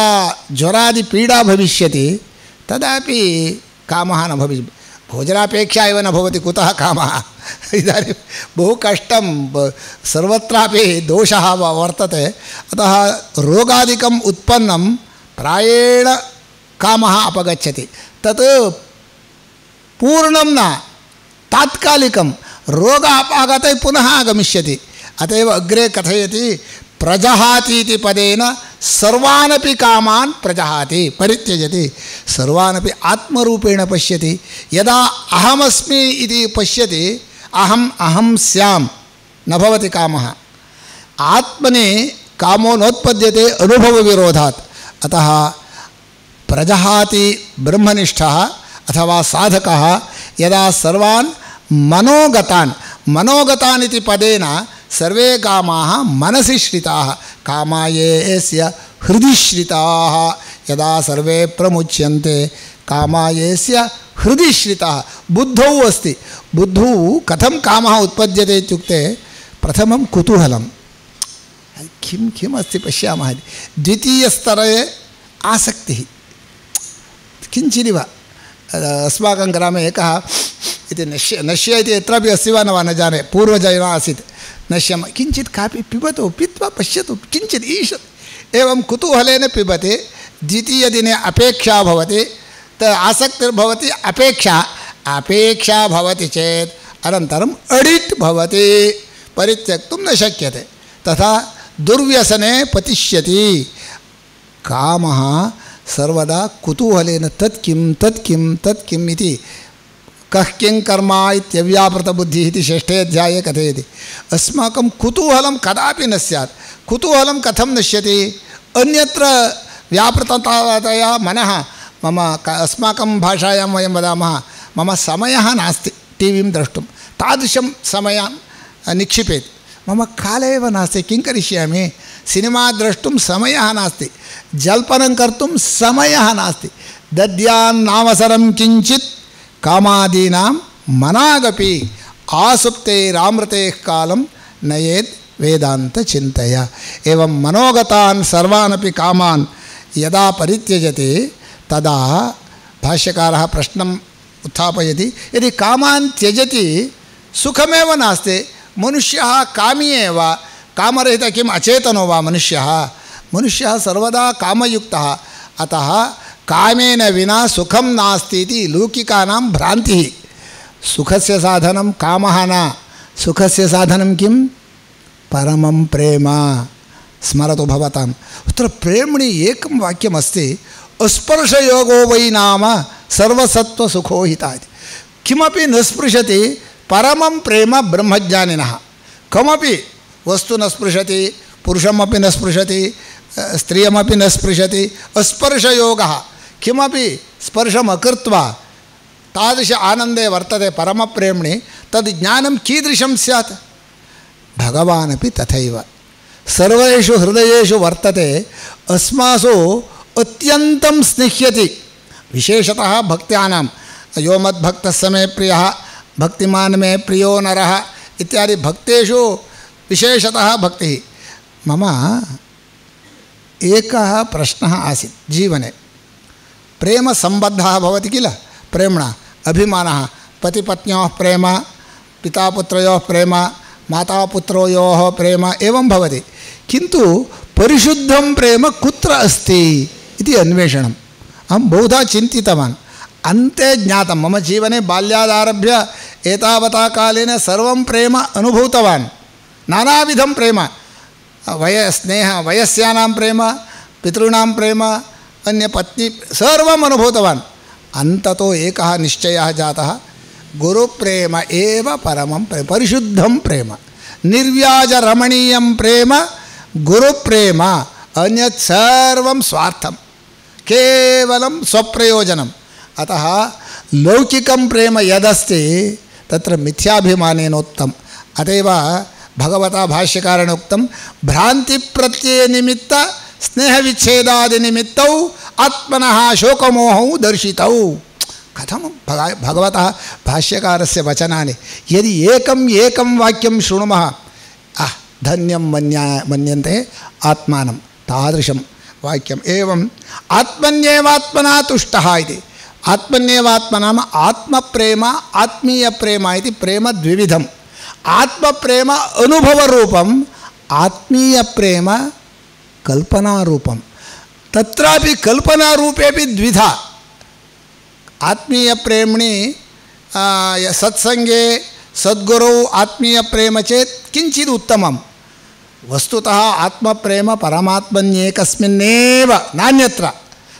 ज्वरादि पीडा भविष्यति तदापि कामः न भविष्यति। भोजनापेक्षा एव न भवति, कुतः कामः? इदानीं बहु कष्टं, सर्वत्रापि दोषः वर्तते। अतः रोगादिकम् उत्पन्नं प्रायेण कामः अपगच्छति। तत् पूर्णं न, तात्कालिकं। रोग अपागते पुनः आगमिष्यति। अतएव अग्रे कथयति प्रजहाति इति पदेन सर्वानपि कामान् प्रजहाति, परित्यजति। सर्वानपि आत्मरूपेण पश्यति। यदा अहमस्मि इति पश्यति, अहम् अहं स्याम्, न भवति कामः। आत्मनि कामो नोत्पद्यते अनुभवविरोधात्। अतः प्रजहाति ब्रह्मनिष्ठः अथवा साधकः यदा सर्वान् मनोगतान्, मनोगतान् इति पदेन सर्वे कामाः मनसि श्रिताः, कामायेस्य हृदि श्रिताः। यदा सर्वे प्रमुच्यन्ते कामायेस्य हृदि श्रिताः। बुद्धौ अस्ति। बुद्धौ कथं कामः उत्पद्यते इत्युक्ते प्रथमं कुतूहलं, किं किम् अस्ति पश्यामः। द्वितीयस्तरे आसक्तिः, किञ्चिदिव। अस्माकं ग्रामे एकः इति नश्य नश्य इति यत्रापि अस्ति वा न वा न जाने, पूर्वजैव आसीत्। नश्यं किञ्चित् कापि पिबतु, पीत्वा पश्यतु, किञ्चित् ईषत्, एवं कुतूहलेन पिबति। द्वितीयदिने अपेक्षा भवति, त आसक्तिर्भवति, अपेक्षा अपेक्षा भवति चेत् अनन्तरम् अडिक्ट् भवति, परित्यक्तुं न शक्यते। तथा दुर्व्यसने पतिष्यति। कामः सर्वदा कुतूहलेन तत् किं तत् किं तत् किम् इति कः किं कर्म इत्यव्यापृतबुद्धिः इति षष्ठे अध्याये कथयति। अस्माकं कुतूहलं कदापि न स्यात्। कुतूहलं कथं नश्यति? अन्यत्र व्यापृततया मनः, मम अस्माकं भाषायां वयं वदामः मम समयः नास्ति टीवीं द्रष्टुं, तादृशं समयं निक्षिपेत्। मम काले एव नास्ति, किं करिष्यामि? सिनेमा द्रष्टुं समयः नास्ति, जल्पनं कर्तुं समयः नास्ति। दद्यान्नावसरं किञ्चित् कामादीनां मनागपि आसुप्तेरामृतेः कालं नयेत् वेदान्तचिन्तया। एवं मनोगतान् सर्वानपि कामान् यदा परित्यजति तदा भाष्यकारः प्रश्नम् उत्थापयति, यदि कामान् त्यजति सुखमेव नास्ति, मनुष्यः कामी एव, कामरहितः किम् अचेतनो वा मनुष्यः? मनुष्यः सर्वदा कामयुक्तः। अतः कामेन विना सुखं नास्ति इति लौकिकानां भ्रान्तिः। सुखस्य साधनं कामः न, सुखस्य साधनं किं? परमं प्रेम। स्मरतु भवताम्। अत्र प्रेम्णि एकं वाक्यमस्ति, अस्पर्शयोगो वै नाम सर्वसत्त्वसुखोहिता इति। किमपि न स्पृशति परमं प्रेम ब्रह्मज्ञानिनः। कमपि वस्तु न स्पृशति, पुरुषमपि न स्पृशति, स्त्रियमपि न स्पृशति। अस्पर्शयोगः, किमपि स्पर्शम् अकृत्वा तादृश आनन्दे वर्तते परमप्रेम्णि। तद् ज्ञानं कीदृशं स्यात्? भगवानपि तथैव सर्वेषु हृदयेषु वर्तते, अस्मासु अत्यन्तं स्निह्यति। विशेषतः भक्त्यानां यो मद्भक्तः स मे प्रियः, भक्तिमान् मे प्रियो नरः इत्यादि भक्तेषु विशेषतः भक्तिः। मम एकः प्रश्नः आसीत् जीवने। प्रेमसम्बद्धः भवति किल, प्रेम्णा अभिमानः, पतिपत्न्योः प्रेम, पितापुत्रयोः प्रेम, मातापुत्रोयोः प्रेम, एवं भवति। किन्तु परिशुद्धं प्रेम कुत्र अस्ति इति अन्वेषणम् अहं बहुधा चिन्तितवान्। अन्ते ज्ञातं, मम जीवने बाल्यादारभ्य एतावता कालेन सर्वं प्रेम अनुभूतवान्, नानाविधं प्रेम, वय स्नेह वयस्यानां प्रेम, पितॄणां प्रेम, अन्यपत्नी, सर्वम् अनुभूतवान्। अन्ततो एकः निश्चयः जातः, गुरुप्रेम एव परमं प्रेम, परिशुद्धं प्रेम, निर्व्याजरमणीयं प्रेम गुरुप्रेम, अन्यत् सर्वं स्वार्थं, केवलं स्वप्रयोजनम्। अतः लौकिकं प्रेम यदस्ति तत्र मिथ्याभिमानेनोक्तम्। अतएव भगवता भाष्यकारेण उक्तं भ्रान्तिप्रत्ययनिमित्त स्नेहविच्छेदादिनिमित्तौ आत्मनः शोकमोहौ दर्शितौ। कथं भगवतः भाष्यकारस्य वचनानि यदि एकम् एकं वाक्यं शृणुमः आह धन्यं मन्या मन्यन्ते आत्मानं, तादृशं वाक्यम्। एवम् आत्मन्येवात्मना तुष्टः इति, आत्मन्येवात्मनाम आत्मप्रेम आत्मीयप्रेम इति प्रेम द्विविधम्। आत्मप्रेम अनुभवरूपम्, आत्मीयप्रेम कल्पनारूपं। तत्रापि कल्पनारूपेपि द्विधा। आत्मीयप्रेम्णि सत्संगे सद्गुरौ आत्मीयप्रेम चेत् किञ्चित् उत्तमं। वस्तुतः आत्मप्रेम परमात्मन्येकस्मिन्नेव नान्यत्र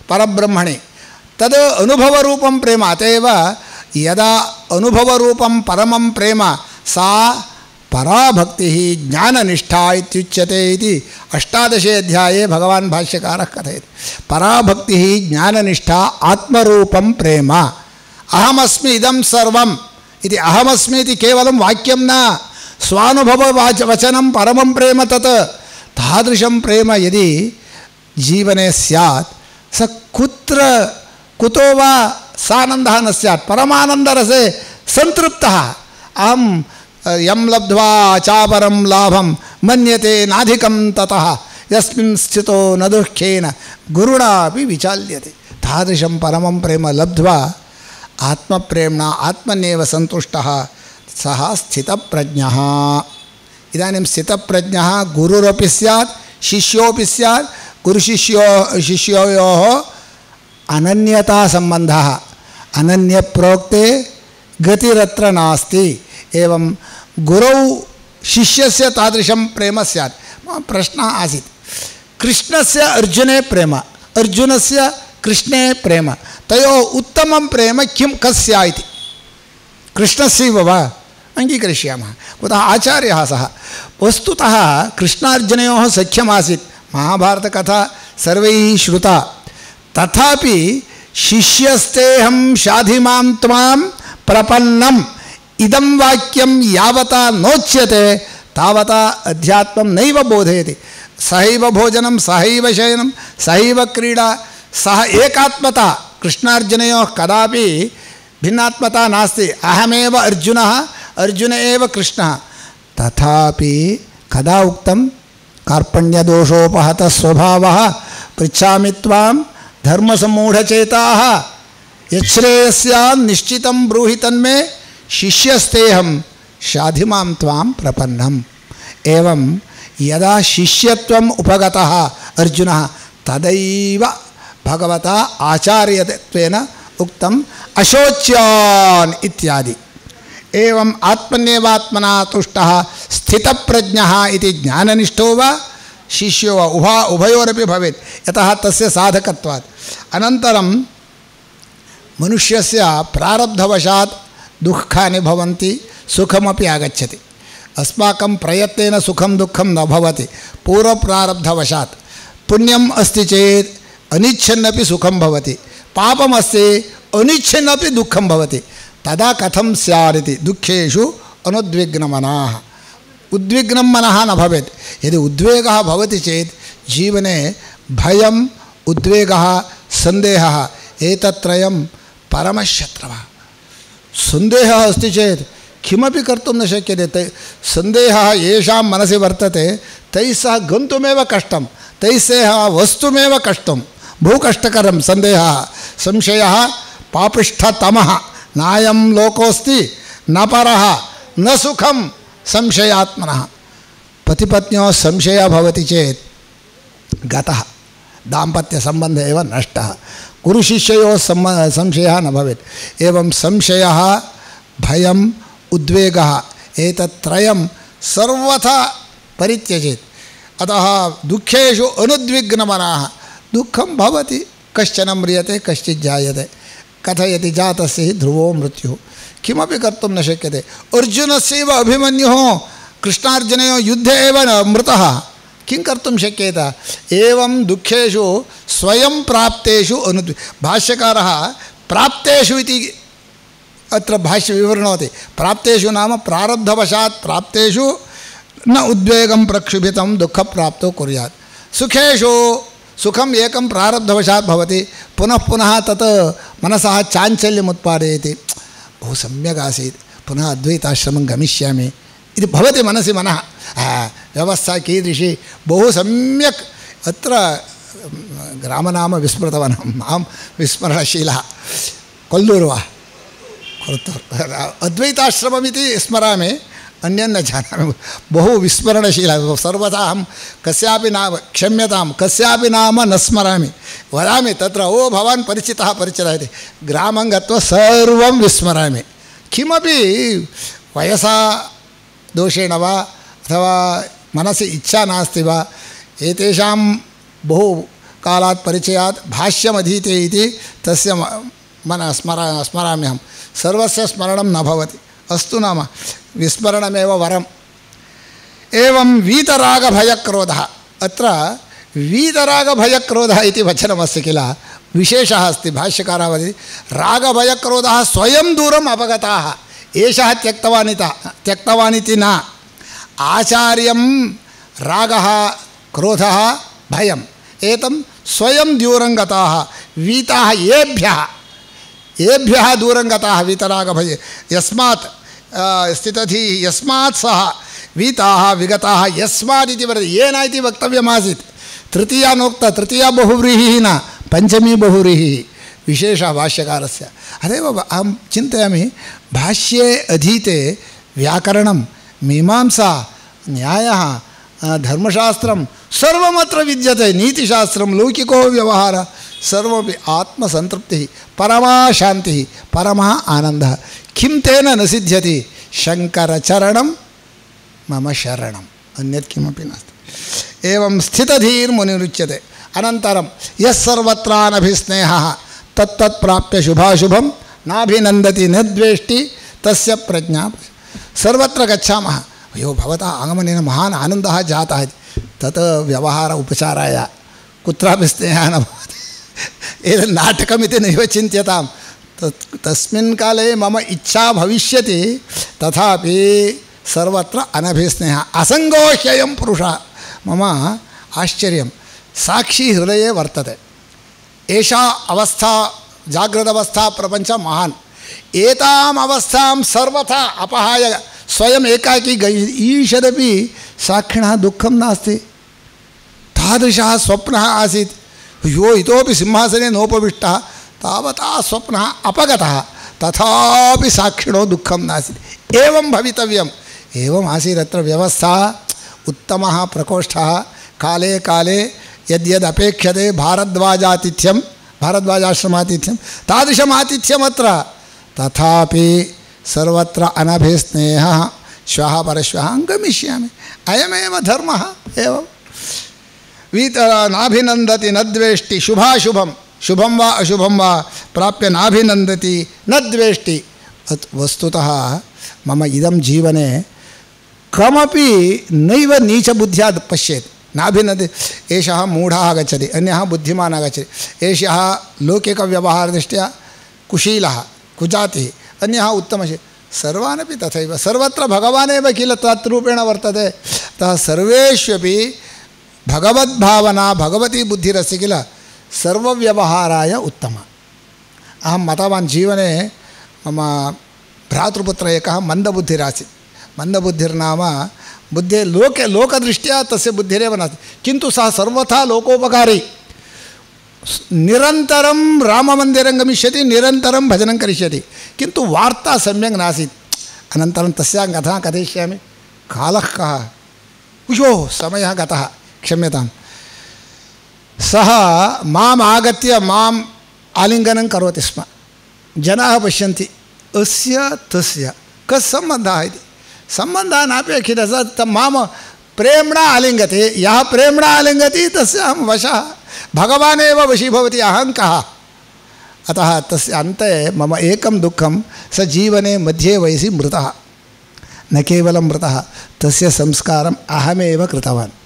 परब्रह्मणि, तद् अनुभवरूपं प्रेम। अत एव यदा अनुभवरूपं परमं प्रेम सा पराभक्तिः ज्ञाननिष्ठा इत्युच्यते इति अष्टादशे अध्याये भगवान् भाष्यकारः कथयति। पराभक्तिः ज्ञाननिष्ठा आत्मरूपं प्रेम। अहमस्मि इदं सर्वम् इति, अहमस्मि इति केवलं वाक्यं न, स्वानुभववाच वचनं परमं प्रेम तत्। तादृशं प्रेम यदि जीवने स्यात् स कुत्र कुतो वा सानन्दः न स्यात्, परमानन्दरसे संतृप्तः। अहं यं लब्ध्वा चापरं लाभं मन्यते नाधिकं ततः यस्मिन् स्थितो न दुःखेन गुरुणापि विचाल्यते। तादृशं परमं प्रेम लब्ध्वा आत्मप्रेम्णा आत्मन्येव सन्तुष्टः सः स्थितप्रज्ञः। इदानीं स्थितप्रज्ञः गुरुरपि स्यात् शिष्योपि स्यात्। गुरुशिष्यो शिष्योयोः अनन्यता सम्बन्धः, अनन्यप्रोक्ते गतिरत्र नास्ति। एवं गुरौ शिष्यस्य तादृशं प्रेम स्यात्। प्रश्नः आसीत्, कृष्णस्य अर्जुने प्रेम, अर्जुनस्य कृष्णे प्रेम, तयोः उत्तमं प्रेम किं कस्य इति। कृष्णस्यैव वा? अङ्गीकरिष्यामः। कुतः आचार्यः सः। वस्तुतः कृष्णार्जुनयोः सख्यमासीत्, महाभारतकथा सर्वैः श्रुता। तथापि शिष्यस्तेऽहं शाधिमां त्वां प्रपन्नम् इदं वाक्यं यावता नोच्यते तावता अध्यात्मं नैव बोधयति। सहैव भोजनं सहैव शयनं सहैव क्रीडा सह एकात्मता। कृष्णार्जुनयोः कदापि भिन्नात्मता नास्ति। अहमेव अर्जुनः, अर्जुन एव कृष्णः। तथापि कदा उक्तं कार्पण्यदोषोपहतः स्वभावः पृच्छामि त्वां धर्मसम्मूढचेताः यच्छ्रेयस्यान् निश्चितं ब्रूहि तन्मे शिष्यस्तेऽहं शाधिमां त्वां प्रपन्नम्। एवं यदा शिष्यत्वम् उपगतः अर्जुनः तदैव भगवता आचार्यत्वेन उक्तम् अशोच्यान् इत्यादि। एवम् आत्मन्येवात्मना तुष्टः स्थितप्रज्ञः इति ज्ञाननिष्ठो वा शिष्यो वा उभा उभयोरपि भवेत्, यतः तस्य साधकत्वात्। अनन्तरं मनुष्यस्य प्रारब्धवशात् दुःखानि भवन्ति, सुखमपि आगच्छति। अस्माकं प्रयत्नेन सुखं दुःखं न भवति, पूर्वप्रारब्धवशात्। पुण्यम् अस्ति चेत् अनिच्छन्नपि सुखं भवति, पापम् अस्ति अनिच्छन्नपि दुःखं भवति। तदा कथं स्यादिति दुःखेषु अनुद्विग्नमनाः। उद्विग्नं मनः न भवेत्। यदि उद्वेगः भवति चेत् जीवने भयम् उद्वेगः सन्देहः एतत्त्रयं परमशत्रवः। सन्देहः अस्ति चेत् किमपि कर्तुं न शक्यते। तै सन्देहः येषां मनसि वर्तते तैः सह गन्तुमेव कष्टं, तैः सह वस्तुमेव कष्टं, बहु कष्टकरं सन्देहः। संशयः पापिष्ठतमः, नायं लोकोऽस्ति न परः न सुखं संशयात्मनः। पतिपत्न्योः संशयः भवति चेत् गतः, दाम्पत्यसम्बन्धः एव नष्टः। गुरुशिष्ययोः संशयः न भवेत्। एवं संशयः भयम् उद्वेगः एतत्त्रयं सर्वथा परित्यजेत्। अतः दुःखेषु अनुद्विग्नमनाः। दुःखं भवति, कश्चन म्रियते कश्चित् जायते, कथयति जातस्य हि ध्रुवो मृत्युः। किमपि कर्तुं न शक्यते। अर्जुनस्यैव अभिमन्युः कृष्णार्जुनयोः युद्धे एव मृतः, किं कर्तुं शक्येत? एवं दुःखेषु स्वयं प्राप्तेषु अनु भाष्यकारः प्राप्तेषु इति अत्र भाष्य विवृणोति। प्राप्तेषु नाम प्रारब्धवशात् प्राप्तेषु न उद्वेगं प्रक्षुभितं दुःखप्राप्तो कुर्यात्। सुखेषु सुखम् एकं प्रारब्धवशात् भवति, पुनः पुनः तत् मनसः चाञ्चल्यम् उत्पादयति। बहु सम्यक् आसीत्, पुनः अद्वैताश्रमं गमिष्यामि इति भवति मनसि मनः। व्यवस्था कीदृशी, बहु सम्यक्। अत्र ग्रामनाम विस्मृतवान्, मां विस्मरणशीलः कोल्लूरु वा कोल्लूरु अद्वैताश्रममिति स्मरामि, अन्यं न जानामि। बहु विस्मरणशीलः, सर्वदा अहं कस्यापि नाम, क्षम्यतां, कस्यापि नाम न स्मरामि। वदामि तत्र ओ भवान् परिचितः परिचितः इति, ग्रामं गत्वा सर्वं विस्मरामि। किमपि वयसा दोषेण वा अथवा मनसि इच्छा नास्ति वा, एतेषां बहु कालात् परिचयात् भाष्यमधीते इति तस्य मन स्मरा स्मराम्यहं। सर्वस्य स्मरणं न भवति। अस्तु नाम विस्मरणमेव वरम्। एवं वीतरागभयक्रोधः, अत्र वीतरागभयक्रोधः इति वचनमस्ति किल, विशेषः अस्ति। भाष्यकारः वदति रागभयक्रोधः स्वयं दूरम् अपगताः, एषः त्यक्तवान् इति त्यक्तवान् इति न। आचार्यं रागः क्रोधः भयम् एतं स्वयं दूरं गताः, वीताः येभ्यः येभ्यः दूरं गताः वीतरागभय यस्मात् स्थितधि यस्मात् सः वीताः विगताः यस्मात् इति वदति, येन इति वक्तव्यमासीत्। तृतीया नोक्ता, तृतीया बहुव्रीहिः न पञ्चमी बहुव्रीहिः विशेषः भाष्यकारस्य। अतएव अहं चिन्तयामि भाष्ये अधीते व्याकरणं मीमांसा न्यायः धर्मशास्त्रं सर्वमत्र विद्यते। नीतिशास्त्रं लौकिको व्यवहारः सर्वमपि आत्मसंतृप्तिः परमा शान्तिः परमः आनन्दः। किं तेन न सिद्ध्यति? शङ्करचरणं मम शरणम्, अन्यत् किमपि नास्ति। एवं स्थितधीर्मुनिरुच्यते। अनन्तरं यः सर्वत्रानभिस्नेहः तत्तत् प्राप्य शुभाशुभं नाभिनन्दति न द्वेष्टि तस्य प्रज्ञा। सर्वत्र गच्छामः, अयो भवतः आगमनेन महान् आनन्दः जातः, तत् व्यवहार उपचाराय कुत्रापि स्नेहः न भवति। एतत् नाटकमिति नैव चिन्त्यतां। तत् तस्मिन् काले मम इच्छा भविष्यति, तथापि सर्वत्र अनभिस्नेहः असङ्गो ह्ययं पुरुषः। मम आश्चर्यं, साक्षी हृदये वर्तते। एषा अवस्था जागृतावस्था प्रपञ्च महान्। एताम् अवस्थां सर्वथा अपहाय स्वयम् एकाकी ईषदपि साक्षिणः दुःखं नास्ति। तादृशः स्वप्नः आसीत्। यो इतोपि सिंहासने नोपविष्टः, तावता स्वप्नः अपगतः, तथापि साक्षिणो दुःखं नासीत्। एवं भवितव्यम्। एवम् आसीत् अत्र व्यवस्था। उत्तमः प्रकोष्ठः, काले काले यद्यद् अपेक्षते भारद्वाजातिथ्यं भारद्वाजाश्रमातिथ्यं तादृशम् आतिथ्यमत्र। तथापि सर्वत्र अनभिस्नेहः। श्वः परश्वः गमिष्यामि, अयमेव धर्मः। एवं वीत नाभिनन्दति न द्वेष्टि शुभाशुभं, शुभं वा अशुभं वा प्राप्य नाभिनन्दति न द्वेष्टि। वस्तुतः मम इदं जीवने कमपि नैव नीचबुद्ध्या पश्येत्। नाभिनन्दति, एषः मूढः आगच्छति, अन्यः बुद्धिमान् आगच्छति, एषः लौकिकव्यवहारदृष्ट्या कुशीलः कुजातिः, अन्यः उत्तमः। सर्वानपि तथैव। सर्वत्र भगवानेव किल तत्रूपेण वर्तते। अतः सर्वेष्वपि भगवद्भावना भगवती बुद्धिरस्ति किल, सर्वव्यवहाराय उत्तमा। अहं मतवान् जीवने मम भ्रातृपुत्र एकः मन्दबुद्धिरासीत्। मन्दबुद्धिर्नाम बुद्धे लोके लोकदृष्ट्या तस्य बुद्धिरेव नास्ति, किन्तु सः सर्वथा लोकोपकारी। निरन्तरं राममन्दिरं गमिष्यति, निरन्तरं भजनं करिष्यति, किन्तु वार्ता सम्यक् नासीत्। अनन्तरं तस्यां कथां कथयिष्यामि। कालः कः, उयो समयः गतः, क्षम्यतां। सः माम् आगत्य माम् आलिङ्गनं करोति स्म। जनाः पश्यन्ति, अस्य तस्य कः सम्बन्धः इति। सम्बन्धः नापेक्षितः, स मां प्रेम्णा आलिङ्गति। यः प्रेम्णा आलिङ्गति तस्य अहं वशः। भगवान् एव वशीभवति, अहं कः। अतः तस्य अन्ते मम एकं दुःखं स जीवने मध्ये वयसि मृतः न केवलं मृतः तस्य संस्कारम् अहमेव कृतवान्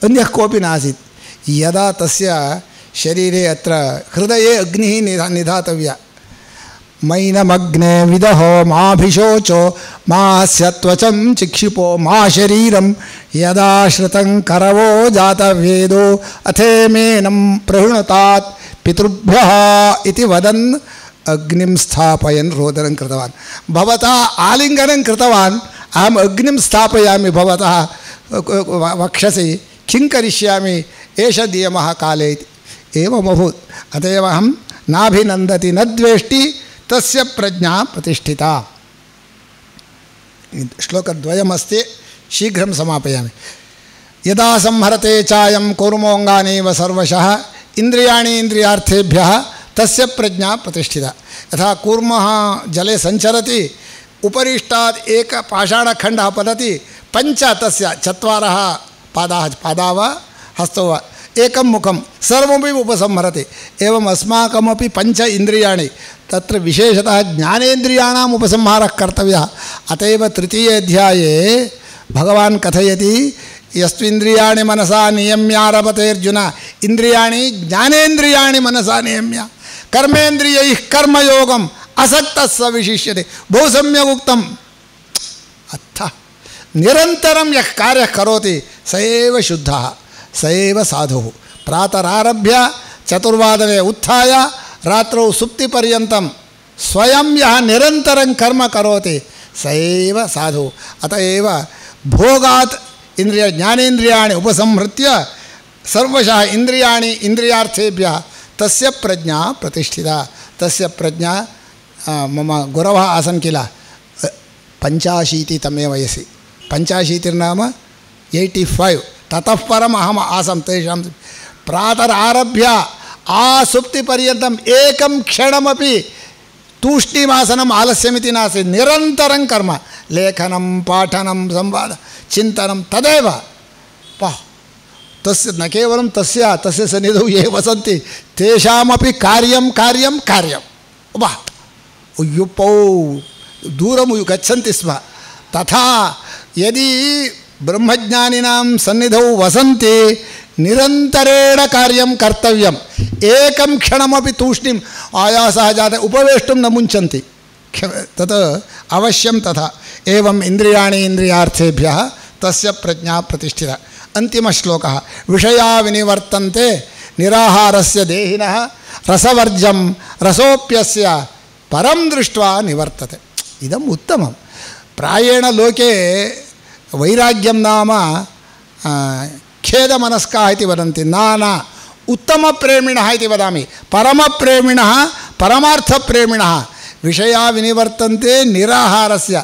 अन्यः कोऽपि नासीत् यदा तस्य शरीरे अत्र हृदये अग्निः निधा निधातव्या मैनमग्ने विदहो माभिशोचो मास्य त्वचं चिक्षिपो मा शरीरं यदा श्रुतं करवो जातवेदो अथेमेनं प्रहृणुतात् पितृभ्यः इति वदन् अग्निं स्थापयन् रोदनं कृतवान् भवता आलिङ्गनं कृतवान् अहम् अग्निं स्थापयामि भवतः वक्षसि किं करिष्यामि एष नियमः काले इति एवमभूत् अत एव अहं नाभिनन्दति न द्वेष्टि तस्य प्रज्ञा प्रतिष्ठिता श्लोकद्वयमस्ति शीघ्रं समापयामि यदा संहरते चायं कूर्मोऽङ्गानीव सर्वशः इन्द्रियाणि इन्द्रियार्थेभ्यः तस्य प्रज्ञा प्रतिष्ठिता यथा कूर्मः जले सञ्चरति उपरिष्टात् एक पाषाणखण्डः पतति पञ्च तस्य चत्वारः पादाः पादा वा हस्तो वा एकं मुखं सर्वमपि उपसंहरति एवम् अस्माकमपि पञ्च इन्द्रियाणि तत्र विशेषतः ज्ञानेन्द्रियाणाम् उपसंहारः कर्तव्यः अत एव तृतीये अध्याये भगवान् कथयति यस्त्विन्द्रियाणि मनसा नियम्यारभते अर्जुन इन्द्रियाणि ज्ञानेन्द्रियाणि मनसा नियम्य कर्मेन्द्रियैः कर्मयोगम् असक्तः स विशिष्यते बहु सम्यक् उक्तम् अथ निरन्तरं यः कार्यः करोति स एव शुद्धः स एव साधुः प्रातरारभ्य चतुर्वादने उत्थाय रात्रौ सुप्तिपर्यन्तं स्वयं यः निरन्तरं कर्म करोति स एव साधुः अत एव भोगात् इंद्रिय ज्ञानेन्द्रियाणि उपसंहृत्य सर्वशः इंद्रियाणि इंद्रियार्थेभ्यः तस्य प्रज्ञा प्रतिष्ठिता तस्य प्रज्ञा मम गुरवः आसन् किल पञ्चाशीतितमे वयसि पञ्चाशीतिर्नाम एय्टि फैव् ततः परम् अहम् आसं तेषां प्रातरारभ्य आसुप्तिपर्यन्तम् एकं क्षणमपि तूष्णीमासनम् आलस्यमिति नासीत् निरन्तरं कर्म लेखनं पाठनं संवादः चिन्तनं तदेव पा तस्य न केवलं तस्य तस्य सन्निधौ ये वसन्ति तेषामपि कार्यं कार्यं कार्यम् उबा युपौ दूरं गच्छन्ति स्म तथा यदि ब्रह्मज्ञानिनां सन्निधौ वसन्ति निरन्तरेण कार्यं कर्तव्यम् एकं क्षणमपि तूष्णीम् आयासः जातः उपवेष्टुं न मुञ्चन्ति तत् अवश्यं तथा एवम् इन्द्रियाणि इन्द्रियार्थेभ्यः तस्य प्रज्ञा प्रतिष्ठिता अन्तिमश्लोकः विषया विनिवर्तन्ते निराहारस्य देहिनः रसवर्जं रसोप्यस्य परं दृष्ट्वा निवर्तते इदम् उत्तमं प्रायेण लोके वैराग्यं नाम खेदमनस्काः इति वदन्ति न न उत्तमप्रेमिणः इति वदामि परमप्रेमिणः परमार्थप्रेमिणः विषया विनिवर्तन्ते निराहारस्य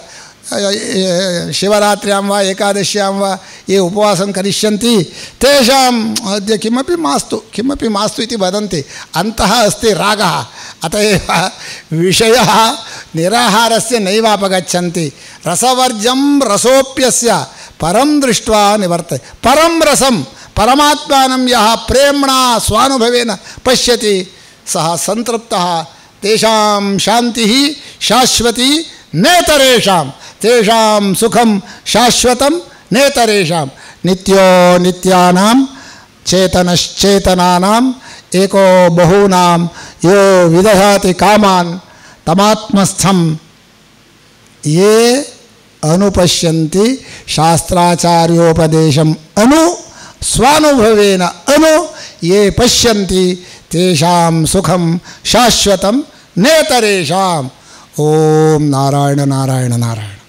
शिवरात्र्यां वा एकादश्यां वा ये उपवासं करिष्यन्ति तेषाम् अद्य किमपि मास्तु किमपि मास्तु इति वदन्ति अन्तः अस्ति रागः अत एव विषयः निराहारस्य नैवापगच्छन्ति रसवर्जं रसोप्यस्य परं दृष्ट्वा निवर्तते परं रसं परमात्मानं यः प्रेम्णा स्वानुभवेन पश्यति सः सन्तृप्तः तेषां शान्तिः शाश्वती नेतरेषां तेषां सुखं शाश्वतं नेतरेषां नित्यो नित्यानां चेतनश्चेतनानां एको बहूनां यो विदधाति कामान् तमात्मस्थं ये अनुपश्यन्ति शास्त्राचार्योपदेशम् अनु स्वानुभवेन अनु ये पश्यन्ति तेषां सुखं शाश्वतं नेतरेषाम् ओम नारायण नारायण नारायण।